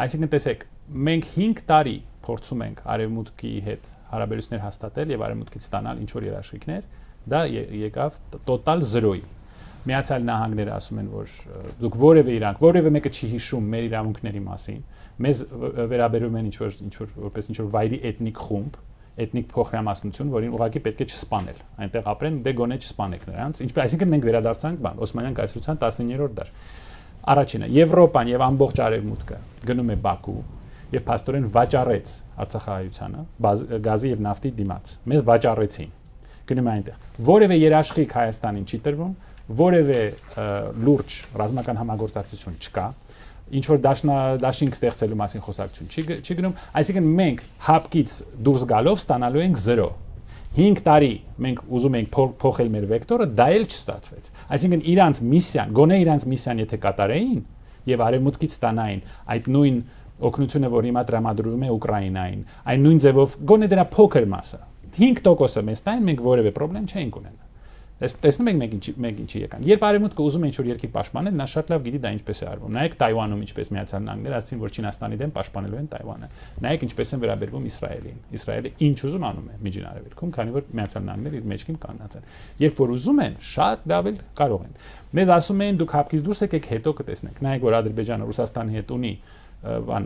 Այսինքն տեսեք, մենք հինգ տարի փորձում ենք Արևմուտքի հետ հարաբերություններ հաստատել եւ Արևմուտքից ստանալ ինչ որ երաշխիքներ, դա եկավ տոտալ զրոյի։ Միացյալ Նահանգները ասում են, որ դուք որևէ իրանք, որևէ մեկը չի հիշում մեր իրավունքների մասին, մեզ վերաբերում են ինչ որ ինչ որ որպես ինչ որ վայրի էթնիկ խումբ, էթնիկ փոխրամասնություն, որին ուղղակի պետք է չսպանել, այնտեղ ապրեն, դե գոնե չսպանեք նրանց, ինչպես այսինքն մենք վերադարձանք բան, Օսմանյան կայսրության տասնիններորդ դար։ Առաջինը, Եվրոպան եւ ամբողջ Արևմուտքը գնում է Բաքու եւ փաստորեն վաճառեց Արցախահայությանը գազի եւ նավթի դիմաց։ Մեզ վաճառեցին։ Գնում է այնտեղ։ Որևէ երաշխիք Հայաստանին չի տրվում, որևէ լուրջ ռազմական համագործակցություն չկա, ինչ որ դաշինք ստեղծելու մասին խոսակցություն չի չի գնում, այսինքն մենք ՀԱՊԿ-ից դուրս գալով ստանալու ենք զրո։ հինգ տարի մենք ուզում ենք փոխել մեր վեկտորը, դա էլ չստացվեց։ Այսինքն իրանց միսիան, գոնե իրանց միսիան եթե կատարեին եւ Արևմուտքից ստանային այդ նույն օգնությունը, որ հիմա տրամադրվում է Ուկրաինային, այն նույն ձևով գոնե դրա փոքր մասը հինգ տոկոսը մեզ տային, մենք որևէ խնդրեմ չենք ունենա։ Տեսնում եք մենք ինչի մենք ինչի եկան։ Երբ Արևմուտքը ուզում է ինչ-որ երկիր պաշտպանել, նա շատ լավ գիտի դա ինչպես է արվում։ Նայեք Թայվանում ինչպես Միացյալ Նահանգները ասացին, որ Չինաստանի դեմ պաշտպանելու են Թայվանը։ Նայեք ինչպես են վերաբերվում Իսրայելին։ Իսրայելը ինչ ուզում անում է Միջին Արևելքում, քանի որ Միացյալ Նահանգները իր մեջքին կանգնած են։ Երբ որ ուզում են, շատ լավ էլ կարող են։ Մեզ ասում են դուք ՀԱՊԿ-ից դուրս եկեք, հետո կտեսնեք։ Նայեք որ Ադրբեջանը Ռուսաստանի հետ ունի բան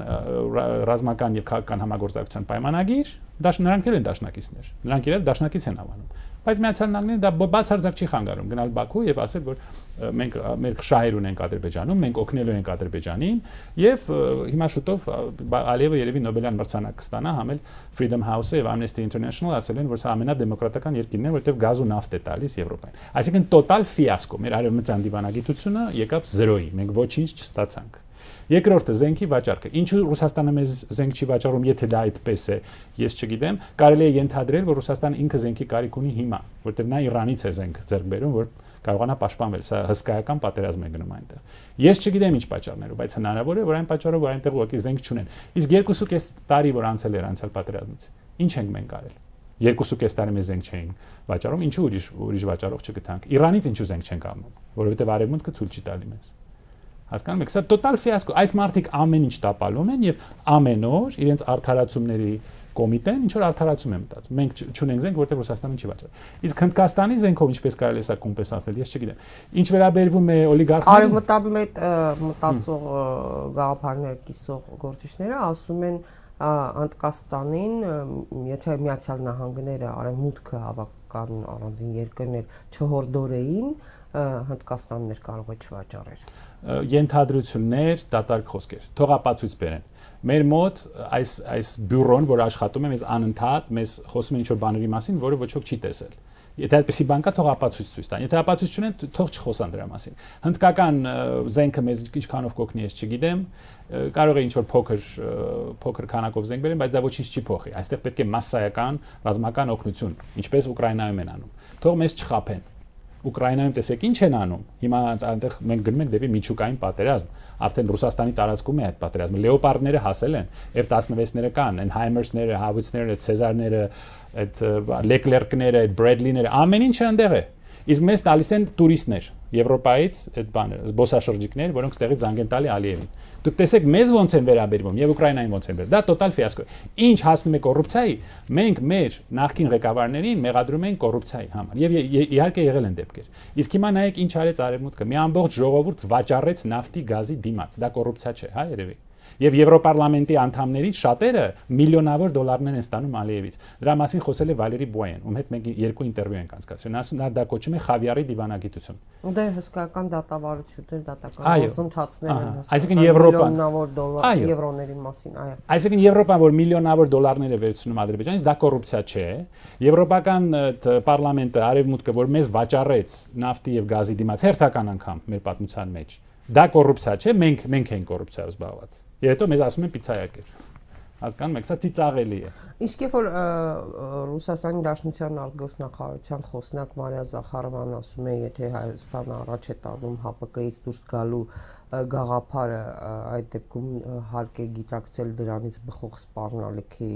ռազմական եւ քաղաքական համագործակցության պայմանագիր, դա նրանք էլ են դաշնակիցներ։ Նրանք իրար դաշնակից են հավանում։ Բայց Միացյալ Նահանգները դա բացարձակ չի խանգարում գնալ Բաքու եւ ասել, որ մենք մեր շահեր ունենք Ադրբեջանում, մենք օգնելու ենք Ադրբեջանին եւ հիմա շուտով Ալիևը երևի Նոբելյան մրցանակ կստանա, համ էլ Freedom House-ը եւ Amnesty International ասել են, որ սա ամենադեմոկրատական երկիրն է, որտեղ գազ ու նավթ է տալիս Եվրոպային։ Այսինքն տոտալ ֆիասկո, մեր արևմտյան դիվանագիտությունը եկավ զրոյի, մենք ոչինչ չստացանք։ Երկրորդը զենքի վաճառքը։ Ինչու Ռուսաստանը մեզ զենք չի վաճառում, եթե դա այդպես է, ես չգիտեմ։ Կարելի է ենթադրել, որ Ռուսաստանը ինքը զենքի կարիք ունի հիմա, որտեղ նա Իրանից է զենք ձեռք բերում, որ կարողանա պաշտպանվել։ Սա հսկայական պատերազմ է գնում այնտեղ։ Ես չգիտեմ ինչ պատճառներով, բայց հնարավոր է, որ այն պատճառով, որ այնտեղ ուղղակի զենք չունեն։ Իսկ երկուսու կես տարի, որ անցել էր անցյալ պատերազմից, ինչ ենք մենք արել։ Երկուսու կես տարի մեզ զենք չէին վաճառում, ինչու ուրիշ ուրիշ վաճառող չգտանք։ Իրանից ինչու զենք չենք առնում, որովհետև Արևմուտքը ցույց չի տալի մեզ։ Հասկանում եք, սա տոտալ ֆիասկո, այս մարդիկ ամեն ինչ տապալում են եւ ամեն օր իրենց արդարացումների կոմիտեն ինչ որ արդարացում է մտածում։ Մենք չունենք զենք, որտեղ Ռուսաստանը չի վաճառում։ Իսկ Հնդկաստանի զենքով ինչպես կարելի է սա կոմպենսացնել, ես չգիտեմ։ Ինչ վերաբերվում է օլիգարխներին, արևմտամետ մտածող գաղափարներ կիսող գործիչները ասում են Հնդկաստանին, եթե Միացյալ Նահանգները արևմուտքը հավաքական առանձին երկրներ չհորդորեին, Հնդկաստաններ կարող է չվաճառել։ Ենթադրություններ, դատարկ խոսքեր։ Թողապացույց բերեն։ Մեր մոտ այս այս բյուրոն, որ աշխատում է, մեզ անընդհատ մեզ խոսում է ինչ-որ բաների մասին, որը ոչ ոք չի տեսել։ Եթե այդպեսի բան կա, թող ապացույց ցույց տան։ Եթե ապացույց չունեն, թող չխոսան դրա մասին։ Հնդկական զենքը մեզ ինչքանով կօգնի, ես չգիտեմ։ Կարող է ինչ-որ փոքր փոքր քանակով զենք բերեն, բայց դա ոչինչ չի փոխի։ Այստեղ պետք է մասսայական ռազմական օգնություն, ինչպես Ուկրաինայում են անում։ Թող մեզ չխափեն։ Ուկրաինայում տեսեք ինչ են անում։ Հիմա այնտեղ մենք գնում ենք դեպի միջուկային պատերազմ։ Արդեն Ռուսաստանի տարածքում է այդ պատերազմը։ Լեոպարդները հասել են, F տասնվեցները կան, այն Հայմերսները, Հավիցները, Ցեզարները, այդ Լեկլերկները, այդ Բրեդլիները, ամեն ինչը այնտեղ է։ Իսկ մեզ տալիս են տուրիստներ Եվրոպայից, այդ բանը, զբոսաշրջիկներ, որոնք ստեղից զանգ են տալի Ալիևին։ Դուք տեսեք մեզ ոնց են վերաբերվում եւ Ուկրաինային ոնց են վերաբերվում։ Դա տոտալ ֆիասկո է։ Ինչ հասնում է կոռուպցիայի, մենք մեր նախկին ղեկավարներին մեղադրում ենք կոռուպցիայի համար։ Եվ իհարկե եղել են դեպքեր։ Իսկ հիմա նայեք ինչ արեց Արևմուտքը։ Մի ամբողջ ժողովուրդ վաճառեց նավթի գազի դիմաց։ Դա կոռուպցիա չէ, հա, երևի։ Եվ Եվրոպարլամենտի անդամներից շատերը միլիոնավոր դոլարներ են ստանում Ալիևից։ Դրա մասին խոսել է Վալերի Բոյան, ում հետ մենք երկու ինտերվյու ենք անցկացրել։ Նա դա կոչում է խավիարի դիվանագիտություն։ Դե հսկայական դատավարություններ, դատական գործընթացներ են հսկայական։ Այսինքն Եվրոպան միլիոնավոր դոլար եվրոների մասին, այո։ Այսինքն Եվրոպան, որ միլիոնավոր դոլարներ է վերցնում Ադրբեջանից, դա կոռուպցիա չէ։ Եվրոպական պարլամենտը, Արևմուտքը, որ մեզ վաճառեց նավթի եւ գազի դիմաց հերթական անգամ մեր պատմության մեջ, դա կոռուպցիա չէ, մենք մենք ենք կոռուպցիայով զբաղված։ Եվ հետո մեզ ասում են պիցայակեր։ Հասկանում եք, սա ծիծաղելի է։ Իսկ երբ որ Ռուսաստանի Դաշնության արտգործնախարարության խոսնակ Մարիա Զախարովան ասում է, եթե Հայաստանը առաջ է տանում H P K-ից դուրս գալու գաղափարը, այդ դեպքում հարկ է գիտակցել դրանից բխող սպառնալիքի,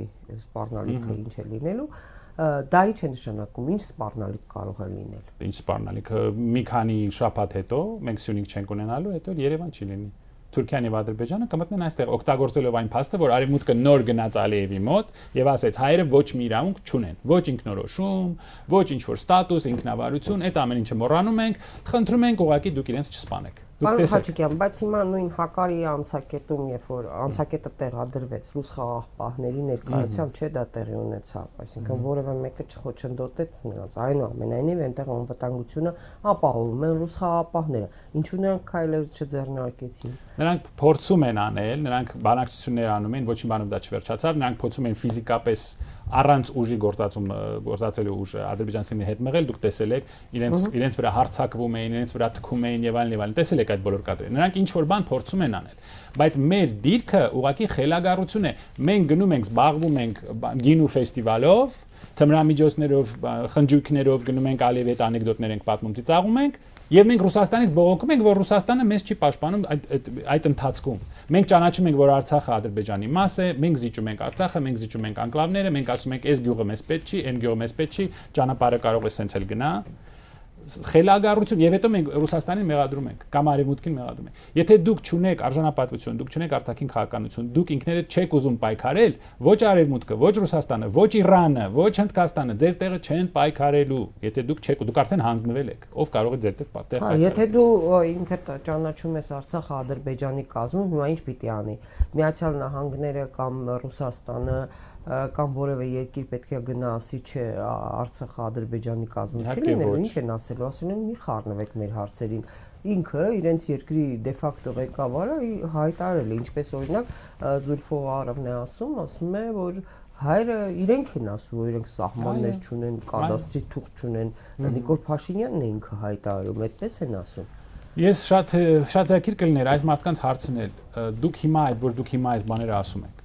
սպառնալիքը ինչ է լինելու, դա ինչ է նշանակում, ինչ սպառնալիք կարող է լինել։ Ինչ սպառնալիք, մի քանի շաբաթ հետո մենք Սյունիք չենք ունենալու, հետո Երևան չի լինի։ Թուրքիան եւ Ադրբեջանը կմտնեն այստեղ օգտագործելով այն փաստը, որ Արևմուտքը նոր գնաց Ալիևի մոտ եւ ասեց հայերը ոչ մի իրավունք չունեն, ոչ ինքնորոշում, ոչ ինչ որ ստատուս, ինքնավարություն, այդ ամեն ինչը մոռանում ենք, խնդրում ենք ուղղակի դուք իրենց չսպանեք։ Պարոն Խաչիկյան, բայց հիմա նույն Հակարի անցակետում, երբ որ անցակետը տեղադրվեց ռուս խաղաղապահների ներկայությամբ, չէ, դա տեղի ունեցավ, այսինքն որևէ մեկը չխոչընդոտեց նրանց, այնուամենայնիվ այնտեղ անվտանգությունը ապահովում են ռուս խաղաղապահները, ինչու նրանք քայլեր չձեռնարկեցին։ Նրանք փորձում են անել, նրանք բանակցություններ անում են, ոչ մի բանով դա չվերջացավ, նրանք փորձում են ֆիզիկապես առանց ուժի գործածում գործածելու ուժը ադրբեջանցիների հետ մղել, դուք տեսել եք, իրենց իրենց վրա հարձակվում էին, իրենց վրա թքում էին եւ այլն եւ այլն, տեսել եք այդ բոլոր կադրերը։ Նրանք ինչ որ բան փորձում են անել, բայց մեր դիրքը ուղղակի խելագարություն է։ Մենք գնում ենք, զբաղվում ենք գինու ֆեստիվալով, թմրամիջոցներով, խնջույքներով գնում ենք Ալիևի հետ անեկդոտներ ենք պատմում, ծիծաղում ենք, եւ մենք Ռուսաստանից բողոքում ենք, որ Ռուսաստանը մեզ չի պաշտպանում այդ այդ այդ ընթացքում։ Մենք ճանաչում ենք, որ Արցախը Ադրբեջանի մաս է, մենք զիջում ենք Արցախը, մենք զիջում ենք անկլավները, մենք ասում ենք, այս գյուղը մեզ պետք չի, այն գյուղը մեզ պետք չի, ճանապարհը կարող է սենց էլ գնա։ Խելագարություն եւ հետո մենք Ռուսաստանին մեղադրում ենք կամ Արևմուտքին մեղադրում ենք։ Եթե դուք չունեք արժանապատվություն, դուք չունեք արտաքին քաղաքականություն, դուք ինքներդ չեք ուզում պայքարել, ոչ Արևմուտքը, ոչ Ռուսաստանը, ոչ Իրանը, ոչ Հնդկաստանը ձեր տեղը չեն պայքարելու։ Եթե դուք չեք, դուք արդեն հանձնվել եք, ով կարող է ձեր տեղ պայքարել։ Եթե դու ինքդ ճանաչում ես Արցախը Ադրբեջանի կազմում, հիմա ինչ պիտի անի։ Միացյալ Նահանգները կամ Ռուսաստանը կամ որևէ երկիր պետք է գնա ասի, չէ, Արցախը Ադրբեջանի կազմում չի լինելու, ինչ են ասելու, ասում են մի խառնվեք մեր հարցերին։ Ինքը իրենց երկրի դե ֆակտո ղեկավարը հայտարարել է, ինչպես օրինակ Զուլֆով Արավն է ասում, ասում է, որ հայրը իրենք են ասում, որ իրենք սահմաններ չունեն, կադաստրի թուղթ չունեն, Նիկոլ Փաշինյանն է ինքը հայտարարում, այդպես են ասում։ Ես շատ շատ ակիր կլիներ այս մարդկանց հարցնել, դուք հիմա այդ որ դուք հիմա այս բաները ասում եք։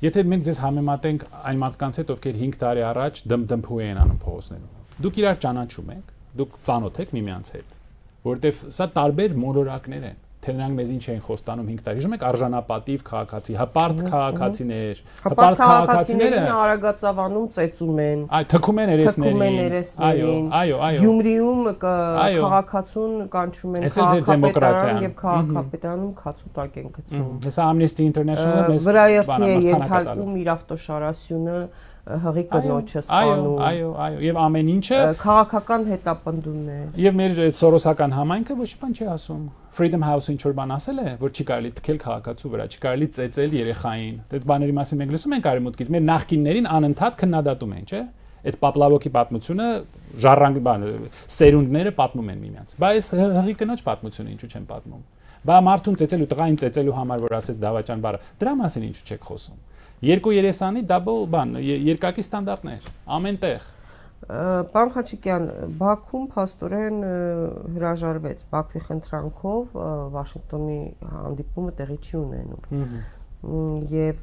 Եթե մենք ձեզ համեմատենք այն մարդկանց հետ, ովքեր հինգ տարի առաջ դմդմփու են անում փողոցներում, դուք իրար ճանաչում եք, դուք ծանոթ եք միմյանց հետ, որովհետև սա տարբեր մոլորակներ են, թե նրանք մեզ ինչ են խոստանում հինգ տարի։ Հիշում եք արժանապատիվ քաղաքացի, հպարտ քաղաքացիներ, հպարտ քաղաքացիներին Արագածավանում ծեծում են, այ թքում են երեսներին, այո, այո, Գյումրիում քաղաքացուն կանչում են քաղաքապետարան եւ քաղաքապետարանում քացուտակ են գցում։ Հեսա Amnesty International-ը մեզ վրայերթի է ենթարկում իր ավտոշարասյունը, հղի կնոջը սպանում։ Այո, այո, եւ ամեն ինչը քաղաքական հետապնդումներ։ Եվ մեր սորոսական համայնքը ոչ բան չի ասում։ Freedom House-ը ինչ որ բան ասել է, որ չի կարելի թքել քաղաքացու վրա, չի կարելի ծեծել երեխային։ Այդ բաների մասին մենք լսում ենք Արևմուտքից, մեր նախկիններին անընդհատ քննադատում են, չէ՞։ Այդ Պապլավոկի պատմությունը ժառանգ բան, սերունդները պատմում են միմյանց։ Բայց հղի կնոջ պատմությունը ինչու չեն պատմում։ Բա մարդուն ծեծելու, տղային ծեծելու համար, որ ասեց դավաճան բառը, դրա մասին ինչու չեք խոսում։ Երկու երեսանի դաբլ բան, երկակի ստանդարտներ, ամենտեղ։ Պարոն Խաչիկյան, Բաքվում փաստորեն հրաժարվեց Բաքվի խնդրանքով Վաշինգտոնի հանդիպումը տեղի չի ունենում։ Եվ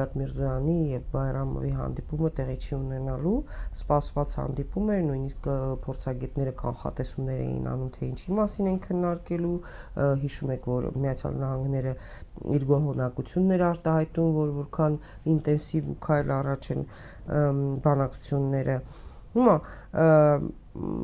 Բարատ Միրզոյանի եւ Բայրամովի հանդիպումը տեղի չի ունենալու, սպասված հանդիպում էր, նույնիսկ փորձագետները կանխատեսումներ էին անում, թե ինչի մասին են քննարկելու, հիշում եք, որ Միացյալ Նահանգները իր գոհունակությունն էր արտահայտում, որ որքան ինտենսիվ ու քայլ առաջ են բանակցությունները։ Հիմա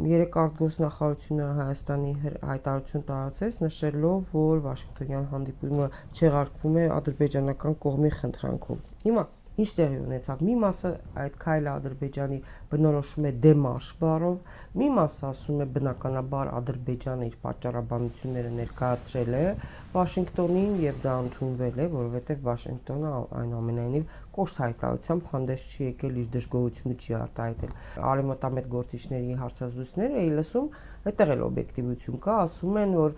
երեք արտգործնախարարությունը Հայաստանի հայտարարություն տարածեց, նշելով, որ Վաշինգտոնյան հանդիպումը չեղարկվում է ադրբեջանական կողմի խնդրանքով։ Հիմա ինչ տեղի ունեցավ։ Մի մասը այդ քայլը Ադրբեջանի բնորոշում է դեմարշ բառով, մի մասը ասում է բնականաբար Ադրբեջանը իր պատճառաբանությունները ներկայացրել է Վաշինգտոնին եւ դա ընդունվել է, որովհետեւ Վաշինգտոնը այնուամենայնիվ կոշտ հայտարարությամբ հանդես չի եկել, իր դժգոհությունը չի արտահայտել։ Արևմտամետ գործիչների հարցազրույցները էի լսում, այդտեղ էլ օբյեկտիվություն կա, ասում են, որ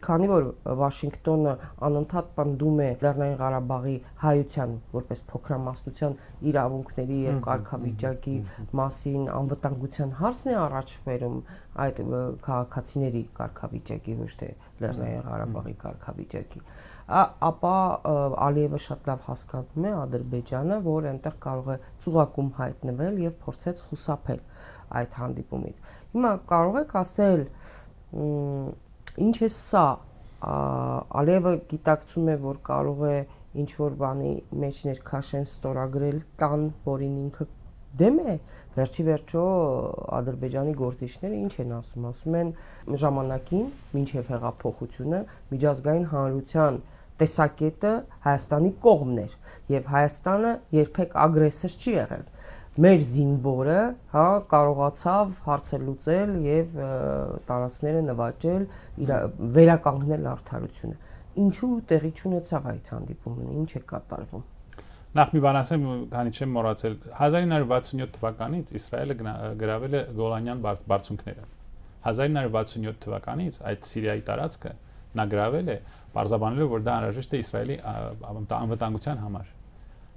քանի որ Վաշինգտոնը անընդհատ պնդում է Լեռնային Ղարաբաղի հայության որպես փոքրամասնության իրավունքների եւ կարգավիճակի մասին անվտանգության հարցն է առաջ բերում այդ քաղաքացիների կարգավիճակի, ոչ թե Լեռնային Ղարաբաղի կարգավիճակի, ապա Ալիևը շատ լավ հասկանում է Ադրբեջանը, որ այնտեղ կարող է ծուղակում հայտնվել եւ փորձեց խուսափել այդ հանդիպումից։ Հիմա կարող եք ասել ինչ է սա, Ալիևը գիտակցում է, որ կարող է ինչ-որ բանի մեջ ներքաշեն ստորագրել տան, որին ինքը դեմ է, վերջի վերջո Ադրբեջանի գործիչները ինչ են ասում, ասում են ժամանակին, մինչև հեղափոխությունը, միջազգային հանրության տեսակետը Հայաստանի կողմն էր, եւ Հայաստանը երբեք ագրեսոր չի եղել։ Մեր զինվորը, հա, կարողացավ հարցը լուծել եւ տարածքները նվաճել, վերականգնել արդարությունը։ Ինչու տեղի չունեցավ այդ հանդիպումը, ինչ է կատարվում։ Նախ մի բան ասեմ, քանի չեմ մոռացել, հազար ինը հարյուր վաթսունյոթ թվականից Իսրայելը գրավել է Գոլանյան բարձունքները։ հազար ինը հարյուր վաթսունյոթ թվականից այդ Սիրիայի տարածքը նա գրավել է, բարձաբանելով, որ դա անհրաժեշտ է Իսրայելի անվտանգության համար։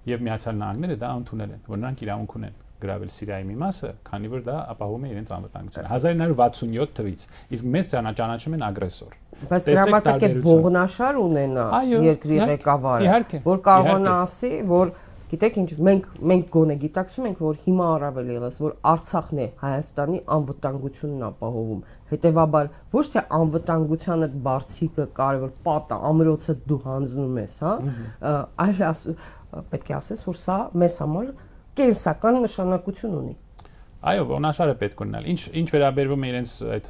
Եվ Միացյալ Նահանգները դա ընդունել են, որ նրանք իրավունք ունեն գրավել Սիրիայի մի մասը, քանի որ դա ապահովում է իրենց անվտանգությունը։ հազար ինը հարյուր վաթսունյոթ թվականից, իսկ մեզ ճանաչում են ագրեսոր։ Բայց դրա համար պետք է ողնաշար ունենա երկրի ղեկավարը, որ կարողանա ասի, որ գիտեք ինչ, մենք մենք գոնե գիտակցում ենք, որ հիմա առավել ևս, որ Արցախն է Հայաստանի անվտանգությունն ապահովում։ Հետևաբար ոչ թե անվտանգությանը բարձիկը կարևոր պատը, ամրոցը դու հանձնում ես, հա, այլ պետք է ասես, որ սա մեզ համար կենսական նշանակություն ունի։ Այո, ողնաշարը պետք է ունենալ։ Ինչ ինչ վերաբերվում է իրենց այդ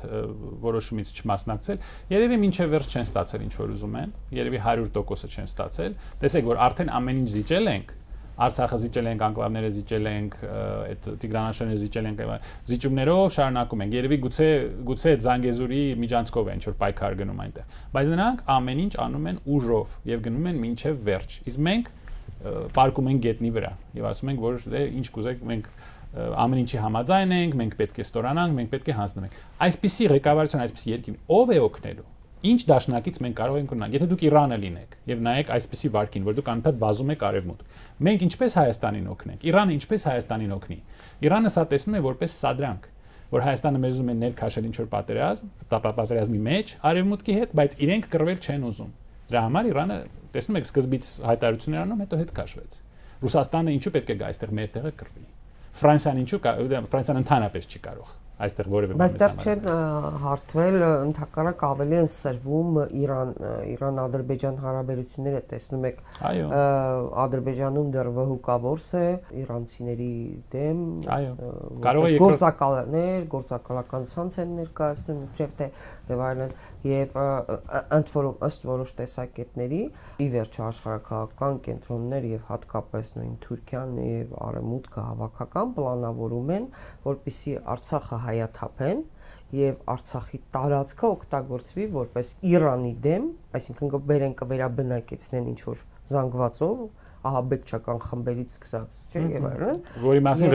որոշումից չմասնակցել, երևի մինչև վերջ չեն ստացել ինչ որ ուզում են, երևի հարյուր տոկոսը չեն ստացել։ Տեսեք, որ արդեն ամեն ինչ զիջել ենք, Արցախը զիջել ենք, անկլավները զիջել ենք, այդ Տիգրանաշարները զիջել ենք, զիջումներով շարունակում ենք։ Երևի գուցե գուցե այդ Զանգեզուրի միջանցքով են ինչ որ պայքար գնում այնտեղ։ Բայց նրանք ամեն ինչ անում են ուժով եւ գնում են մինչև վերջ։ Իսկ մենք պարկում ենք գետնի վրա եւ ասում ենք, որ դե ինչ կուզեք, մենք ամեն ինչի համաձայն ենք, մենք պետք է ստորանանք, մենք պետք է հանձնենք։ Այսպիսի ղեկավարություն, այսպիսի երկիր ով է օգնելու։ Ինչ դաշնակից մենք կարող ենք ունենալ։ Եթե դուք Իրանը լինեք եւ նայեք այսպիսի վարկին, որ դուք անընդհատ վազում եք արևմուտք, մենք ինչպես Հայաստանին օգնենք, Իրանը ինչպես Հայաստանին օգնի։ Իրանը սա տեսնում է որպես սադրանք, որ Հայաստանը մեզ ուզում է ներքաշել ինչ որ պատերազմ, պատերազմի մեջ արևմուտքի հետ, բայց իրենք կռվել չեն ուզում։ Դրա համար Իրանը տեսնում եք սկզբից հայտարարություններ անում, հետո հետ քաշվեց։ Ռուսաստանը ինչու պետք է գա այստեղ մեր տեղը կռվի։ Ֆրանսիան ինչու Ֆրանսիան ընդհանրապես չի կարող այստեղ որևէ բայց դեռ չեն հարթվել, ընդհանրապես ավելի են սրվում Իրան Իրան-Ադրբեջան հարաբերությունները, տեսնում եք Ադրբեջանում դեռ վհուկավորս է իրանցիների դեմ, գործակալներ, գործակալական ցանց են ներկայացնում, իբրև թե եւ այլն, եւ ընդ որում ըստ որոշ տեսակետների ի վերջո աշխարհակաղակական կենտրոններ եւ հատկապես նույն Թուրքիան եւ Արևմուտքը հավաքական պլանավորում են, որպեսզի Արցախը հայաթափեն եւ Արցախի տարածքը օգտագործվի որպես Իրանի դեմ, այսինքն կբերեն կվերաբնակեցնեն ինչ որ զանգվածով ահաբեկչական խմբերից սկսած, չէ՞ եւ այլն, որի մասին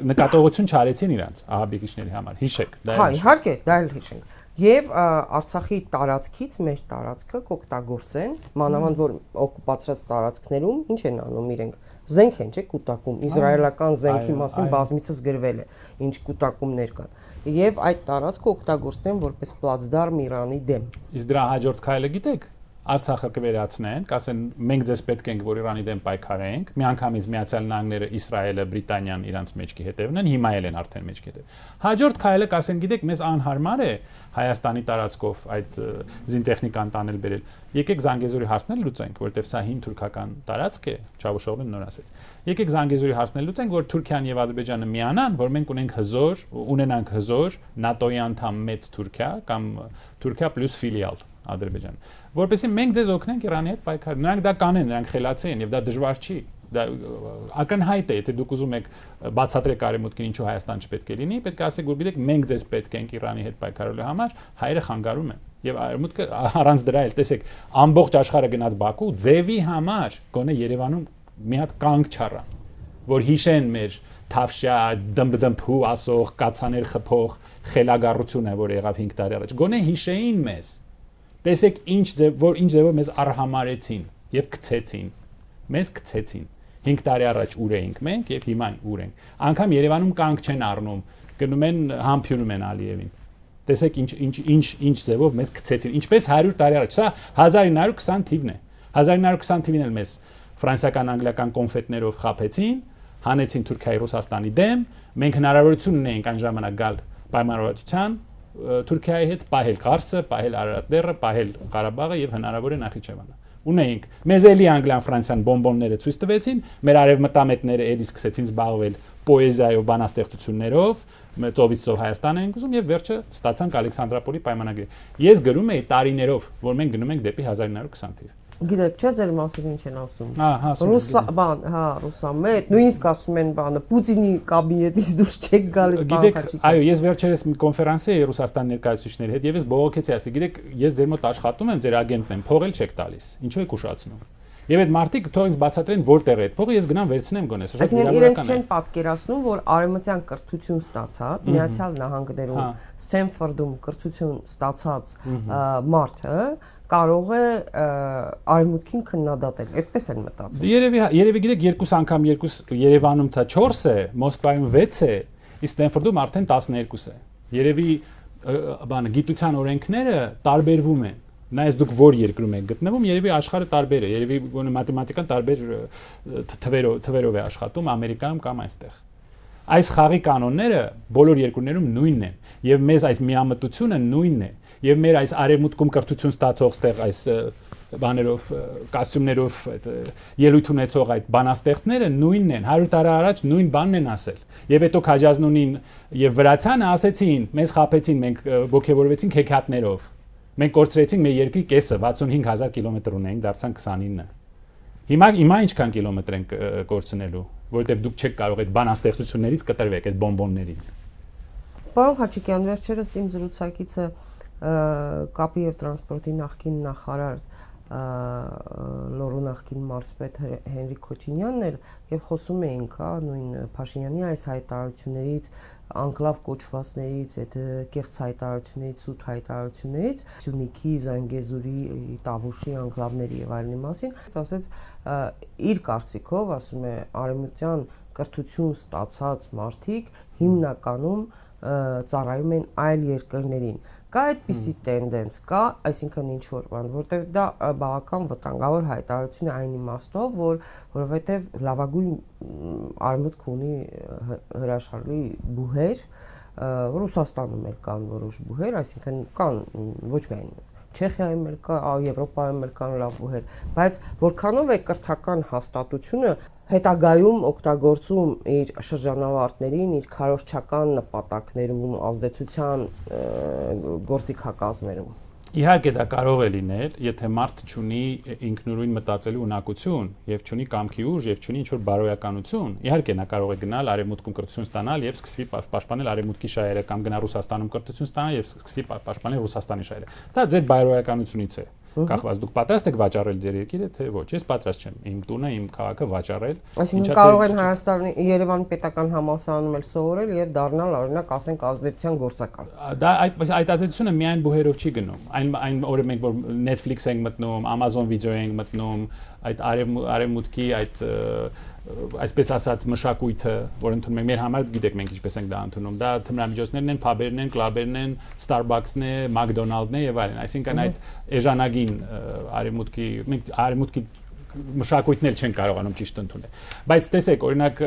նկատողություն չարեցին իրանց ահաբեկիչների համար, հիշեք, դա հա, իհարկե, դա էլ հիշենք։ Եվ Արցախի տարածքից մեր տարածքը կօգտագործեն, մանավանդ որ օկուպացրած տարածքներում ինչ են անում իրենք, զենք են, չէ՞, կուտակում, իսրայելական զենքի մասին բազմիցս գրվել է, ինչ կուտակումներ կան։ Եվ այդ տարածքը օգտագործեն որպես պլացդարմ Իրանի դեմ։ Իսկ դրա հաջորդ քայլը գիտեք։ Արցախը կվերացնեն, կասեն մենք ձեզ պետք ենք որ Իրանի դեմ պայքարենք, միանգամից Միացյալ Նահանգները, Իսրայելը, Բրիտանիան իրանց մեջքի հետևն են, հիմա էլ են արդեն մեջքի հետև։ Հաջորդ քայլը կասեն, գիտեք, մեզ անհարմար է Հայաստանի տարածքով այդ զինտեխնիկան տանել բերել։ Եկեք Զանգեզուրի հարցնել լուծենք, որովհետև սա հին թուրքական տարածք է, Չավուշօղլուն նոր ասեց։ Եկեք Զանգեզուրի հարցնել լուծենք, որ Թուրքիան եւ Ադրբեջանը միանան, որ մենք ունենք հզոր, ունենանք հզոր ՆԱՏՕ-ի անդամ մեծ Թուրքիա կամ Թուրքիա պլյուս ֆիլիալ Ադրբեջան, որովհետեւ մենք ձեզ օգնենք Իրանի հետ պայքար։ Նրանք դա կանեն, նրանք խելացի են եւ դա դժվար չի։ Դա ակնհայտ է, եթե դուք ուզում եք բացատրեք արևմուտքին ինչու Հայաստան չպետք է լինի, պետք է ասեք, որ գիտեք, մենք ձեզ պետք ենք Իրանի հետ պայքարելու համար, հայերը խանգարում են։ Եվ արևմուտքը առանց դրա էլ տեսեք, ամբողջ աշխարհը գնաց Բաքու, ձևի համար գոնե Երևանում մի հատ կանգ չառան, որ հիշեն մեր Թավշյա, դմբդմփու ասող, կացաներ խփող խելագարությունը, որ եղավ հինգ տարի առաջ, գոնե հիշեին մեզ։ Տեսեք ինչ ձև, որ ինչ ձևով մեզ արհամարեցին եւ գցեցին։ Մեզ գցեցին։ հինգ տարի առաջ ուր էինք մենք եւ հիմա ուր ենք։ Անկամ Երևանում կանգ չեն առնում, գնում են համբյունում են Ալիևին։ Տեսեք ինչ ինչ ինչ ինչ ձևով մեզ գցեցին։ Ինչպես հարյուր տարի առաջ, սա հազար ինը հարյուր քսան թիվն է։ հազար ինը հարյուր քսան թիվին էլ մեզ ֆրանսիական անգլիական կոնֆետներով խափեցին, հանեցին Թուրքիայի Ռուսաստանի դեմ, մենք հնարավորություն ունեինք այն ժամանակ գալ պայմանավորվածության Թուրքիայի հետ պահել Ղարսը, պահել Արարատ լեռը, պահել Ղարաբաղը եւ հնարավոր է Նախիջևանը։ Ունեինք մեզ էլի Անգլիան Ֆրանսիան բոմբոնները ցույց տվեցին, մեր արևմտամետները էլի սկսեցին զբաղվել պոեզիայով, բանաստեղծություններով, ծովից ծով Հայաստան են գուզում եւ վերջը ստացանք Ալեքսանդրապոլի պայմանագրի։ Ես գրում եի տարիներով, որ մենք գնում ենք դեպի հազար ինը հարյուր քսան թիվ։ Գիտեք, չէ՞ ձեր մասին ինչ են ասում։ Ահա, ասում են։ Ռուսա, բան, հա, ռուսամետ, նույնիսկ ասում են բանը, Պուտինի կաբինետից դուրս չեք գալիս բանխաչի։ Այո, ես վերջերս մի կոնֆերանսի էի Ռուսաստան ներկայացուցիչների հետ եւ ես բողոքեցի, ասի, գիտեք, ես ձեր մոտ աշխատում եմ, ձեր ագենտն եմ, փող էլ չեք տալիս։ Ինչու եք ուշացնում։ Եվ այդ մարդիկ թող ինձ բացատրեն որտեղ է այդ փողը, ես գնամ վերցնեմ գոնե, սա շատ իրավական է։ Այսինքն իրենք չեն պատկերացնում, որ արևմտյան կրթություն ստացած, Միացյալ Նահանգներում, Սթենֆորդում կրթություն ստացած մարդը կարող է արևմուտքին քննադատել։ Այդպես են մտածում։ Երևի երևի գիտեք երկու անգամ երկու Երևանում դա չորս է, Մոսկվայում վեց է, իսկ Ստենֆորդում արդեն տասներկու է։ Երևի բանը գիտության օրենքները տարբերվում են։ Նայես դուք որ երկրում եք գտնվում, երևի աշխարհը տարբեր է, երևի գոնե մաթեմատիկան տարբեր թվերով թվերով է աշխատում Ամերիկայում կամ այստեղ։ Այս խաղի կանոնները բոլոր երկրներում նույնն են, եւ մեզ այս միամտությունը նույնն է, եւ մեր այս արևմուտքում կրթություն ստացող ստեղ այս բաներով, կոստյումներով այդ ելույթ ունեցող այդ բանաստեղծները նույնն են, հարյուր տարի առաջ նույն բանն են ասել։ Եվ հետո Քաջազնունին եւ Վրացյանը ասեցին, մեզ խափեցին, մենք ոգևորվեցինք հեքիաթներով։ Մենք կորցրեցինք մեր երկրի կեսը, վաթսունհինգ հազար կիլոմետր ունենք, դարձան քսանինը։ Հիմա հիմա ինչքան կիլոմետր են կորցնելու, որովհետեւ դուք չեք կարող այդ բանաստեղծություններից կտրվեք, այդ բոմբոններից։ Պարոն Խաչիկյան, վերջերս իմ զրուցակիցը կապի եւ տրանսպորտի նախկին նախարար Լոռու նախկին մարզպետ Հենրիկ Քոչինյանն էր եւ խոսում էինք, հա, նույն Փաշինյանի այս հայտարարություններից, անկլավ կոչվածներից, այդ կեղծ հայտարարություններից, սուտ հայտարարություններից, Սյունիքի, Զանգեզուրի, Տավուշի անկլավների եւ այլնի մասին, ասեց իր կարծիքով, ասում է, արևմտյան կրթություն ստացած մարդիկ հիմնականում ծառայում են այլ երկրներին։ Կա այդպիսի տենդենս, կա, այսինքն ինչ որ բան, որտեղ դա բավական վտանգավոր հայտարարություն է այն իմաստով, որ որովհետև լավագույն արևմուտք ունի հրաշալի բուհեր, Ռուսաստանում էլ կան որոշ բուհեր, այսինքն կան ոչ միայն Չեխիայում էլ կա, Եվրոպայում էլ կան լավ բուհեր, բայց որքանով է կրթական հաստատությունը հետագայում օգտագործում իր շրջանավարտներին, իր քարոզչական նպատակներում, ազդեցության գործիքակազմերում։ Իհարկե դա կարող է լինել, եթե մարդ չունի ինքնուրույն մտածելու ունակություն եւ չունի կամքի ուժ եւ չունի ինչ-որ բարոյականություն, իհարկե նա կարող է գնալ արևմուտքում կրթություն ստանալ եւ սկսի պաշտպանել արևմուտքի շահերը կամ գնա Ռուսաստանում կրթություն ստանալ եւ սկսի պաշտպանել Ռուսաստանի շահերը։ Դա ձեր բարոյականությունից է։ Կախված դուք պատրաստ եք վաճառել ձեր երկիրը, թե ոչ, ես պատրաստ չեմ իմ տունը, իմ քաղաքը վաճառել։ Այսինքն կարող են Հայաստանի Երևանի պետական համալսարանում էլ սովորել եւ դառնալ օրինակ ասենք ազդեցության գործակալ։ Դա այդ այդ ազդեցությունը միայն բուհերով չի գնում։ Այն այն օրը մենք որ Netflix ենք մտնում, Amazon Video ենք մտնում, այդ արևմուտքի այդ այսպես ասած մշակույթը, որ ընդունում ենք մեր համար, գիտեք մենք ինչպես ենք դա ընդունում, դա թմրամիջոցներն են, փաբերն են, կլաբերն են, Starbucks-ն է, McDonald's-ն է եւ այլն, այսինքն այդ էժանագին արևմուտքի մենք արևմուտքի մշակույթն էլ չեն կարողանում ճիշտ ընդունել։ Բայց տեսեք, օրինակ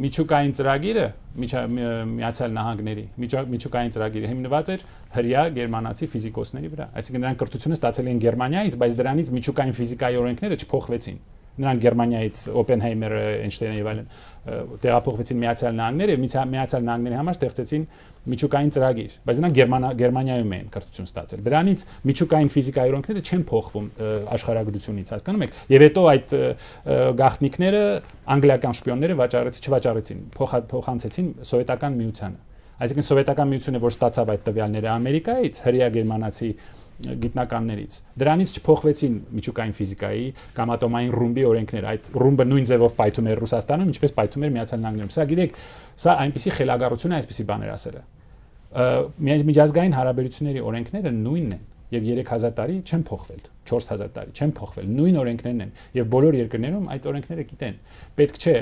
միջուկային ծրագիրը Միացյալ Նահանգների միջուկային ծրագիրը հիմնված էր հրյա գերմանացի ֆիզիկոսների վրա, այսինքն նրանք կրթությունը ստացել են Գերմանիայից, բայց դրանից միջուկային ֆիզիկայի օրենքները չփոխվեցին։ Նրանք Գերմանիայից Օպենհայմերը, Էյնշտեյնը եւ այլն տեղափոխվեցին Միացյալ Նահանգներ եւ Միացյալ Նահանգների համար ստեղծեցին միջուկային ծրագիր, բայց նրանք Գերմանիայում են կրթություն ստացել։ Դրանից միջուկային ֆիզիկայի օրենքները չեն փոխվում աշխարհագրությունից, հասկանում եք։ Եվ հետո այդ գաղտնիքները անգլիական շպիոնները վաճառեցին, չվաճառեցին, փոխանցեցին սովետական միությանը։ Այսինքն սովետական միությունը, որ ստացավ այդ տվյալները Ամերիկայից, հրյա գերմանացի գիտնականներից, դրանից չփոխվեցին միջուկային ֆիզիկայի կամ ատոմային ռումբի օրենքները, այդ ռումբը նույն ձևով պայթում էր Ռուսաստանում, ինչպես պայթում էր Միացյալ Նահանգներում։ Սա գիտեք, սա այնպիսի խելագարություն է, այսպիսի բաներ ասելը։ Միջազգային հարաբերությունների օրենքները նույնն են եւ երեք հազար տարի չեն փոխվել, չորս հազար տարի չեն փոխվել, նույն օրենքներն են եւ բոլոր երկրներում այդ օրենքները գիտեն։ Պետք չէ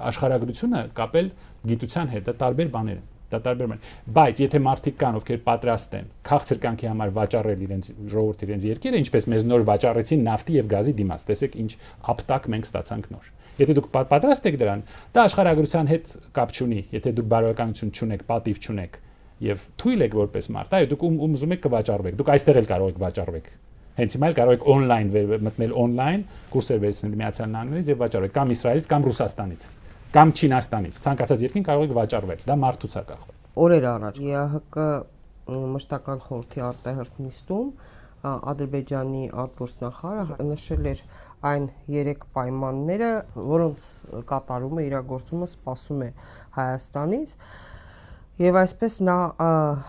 աշխարհագրությունը կապել գիտության հետ, դա տարբեր բաներ են։ Դա տարբեր բան, բայց եթե մարդիկ կան, ովքեր պատրաստ են քաղցր կյանքի համար վաճառել իրենց ժողովրդի իրենց երկիրը, ինչպես մեզ նոր վաճառեցին նավթի եւ գազի դիմաց, տեսեք ինչ ապտակ մենք ստացանք նոր։ Եթե դուք պատրաստ եք դրան, դա աշխարհագրության հետ կապ չունի, եթե դուք բարոյականություն չունեք, պատիվ չունեք եւ թույլ եք որպես մարդ, այո, դուք ում ուզում եք կվաճառվեք, դուք այստեղ էլ կարող եք վաճառվեք։ Հենց հիմա էլ կարող եք on-line մտնել on-line, կուրսեր վերցնել Միացյալ Նահանգներից եւ վաճառեք կամ Իսրայելից կամ Ռուսաստանից կամ Չինաստանից, ցանկացած երկրին կարող եք վաճառվել, դա մարդուց է կախված։ Օրեր առաջ ԵԱՀԿ մշտական խորհրդի արտահերթ նիստում Ադրբեջանի արտգործնախարարը նշել էր այն երեք պայմանները, որոնց կատարումը իրագործումը սպասում է Հայաստանից, եւ այսպես նա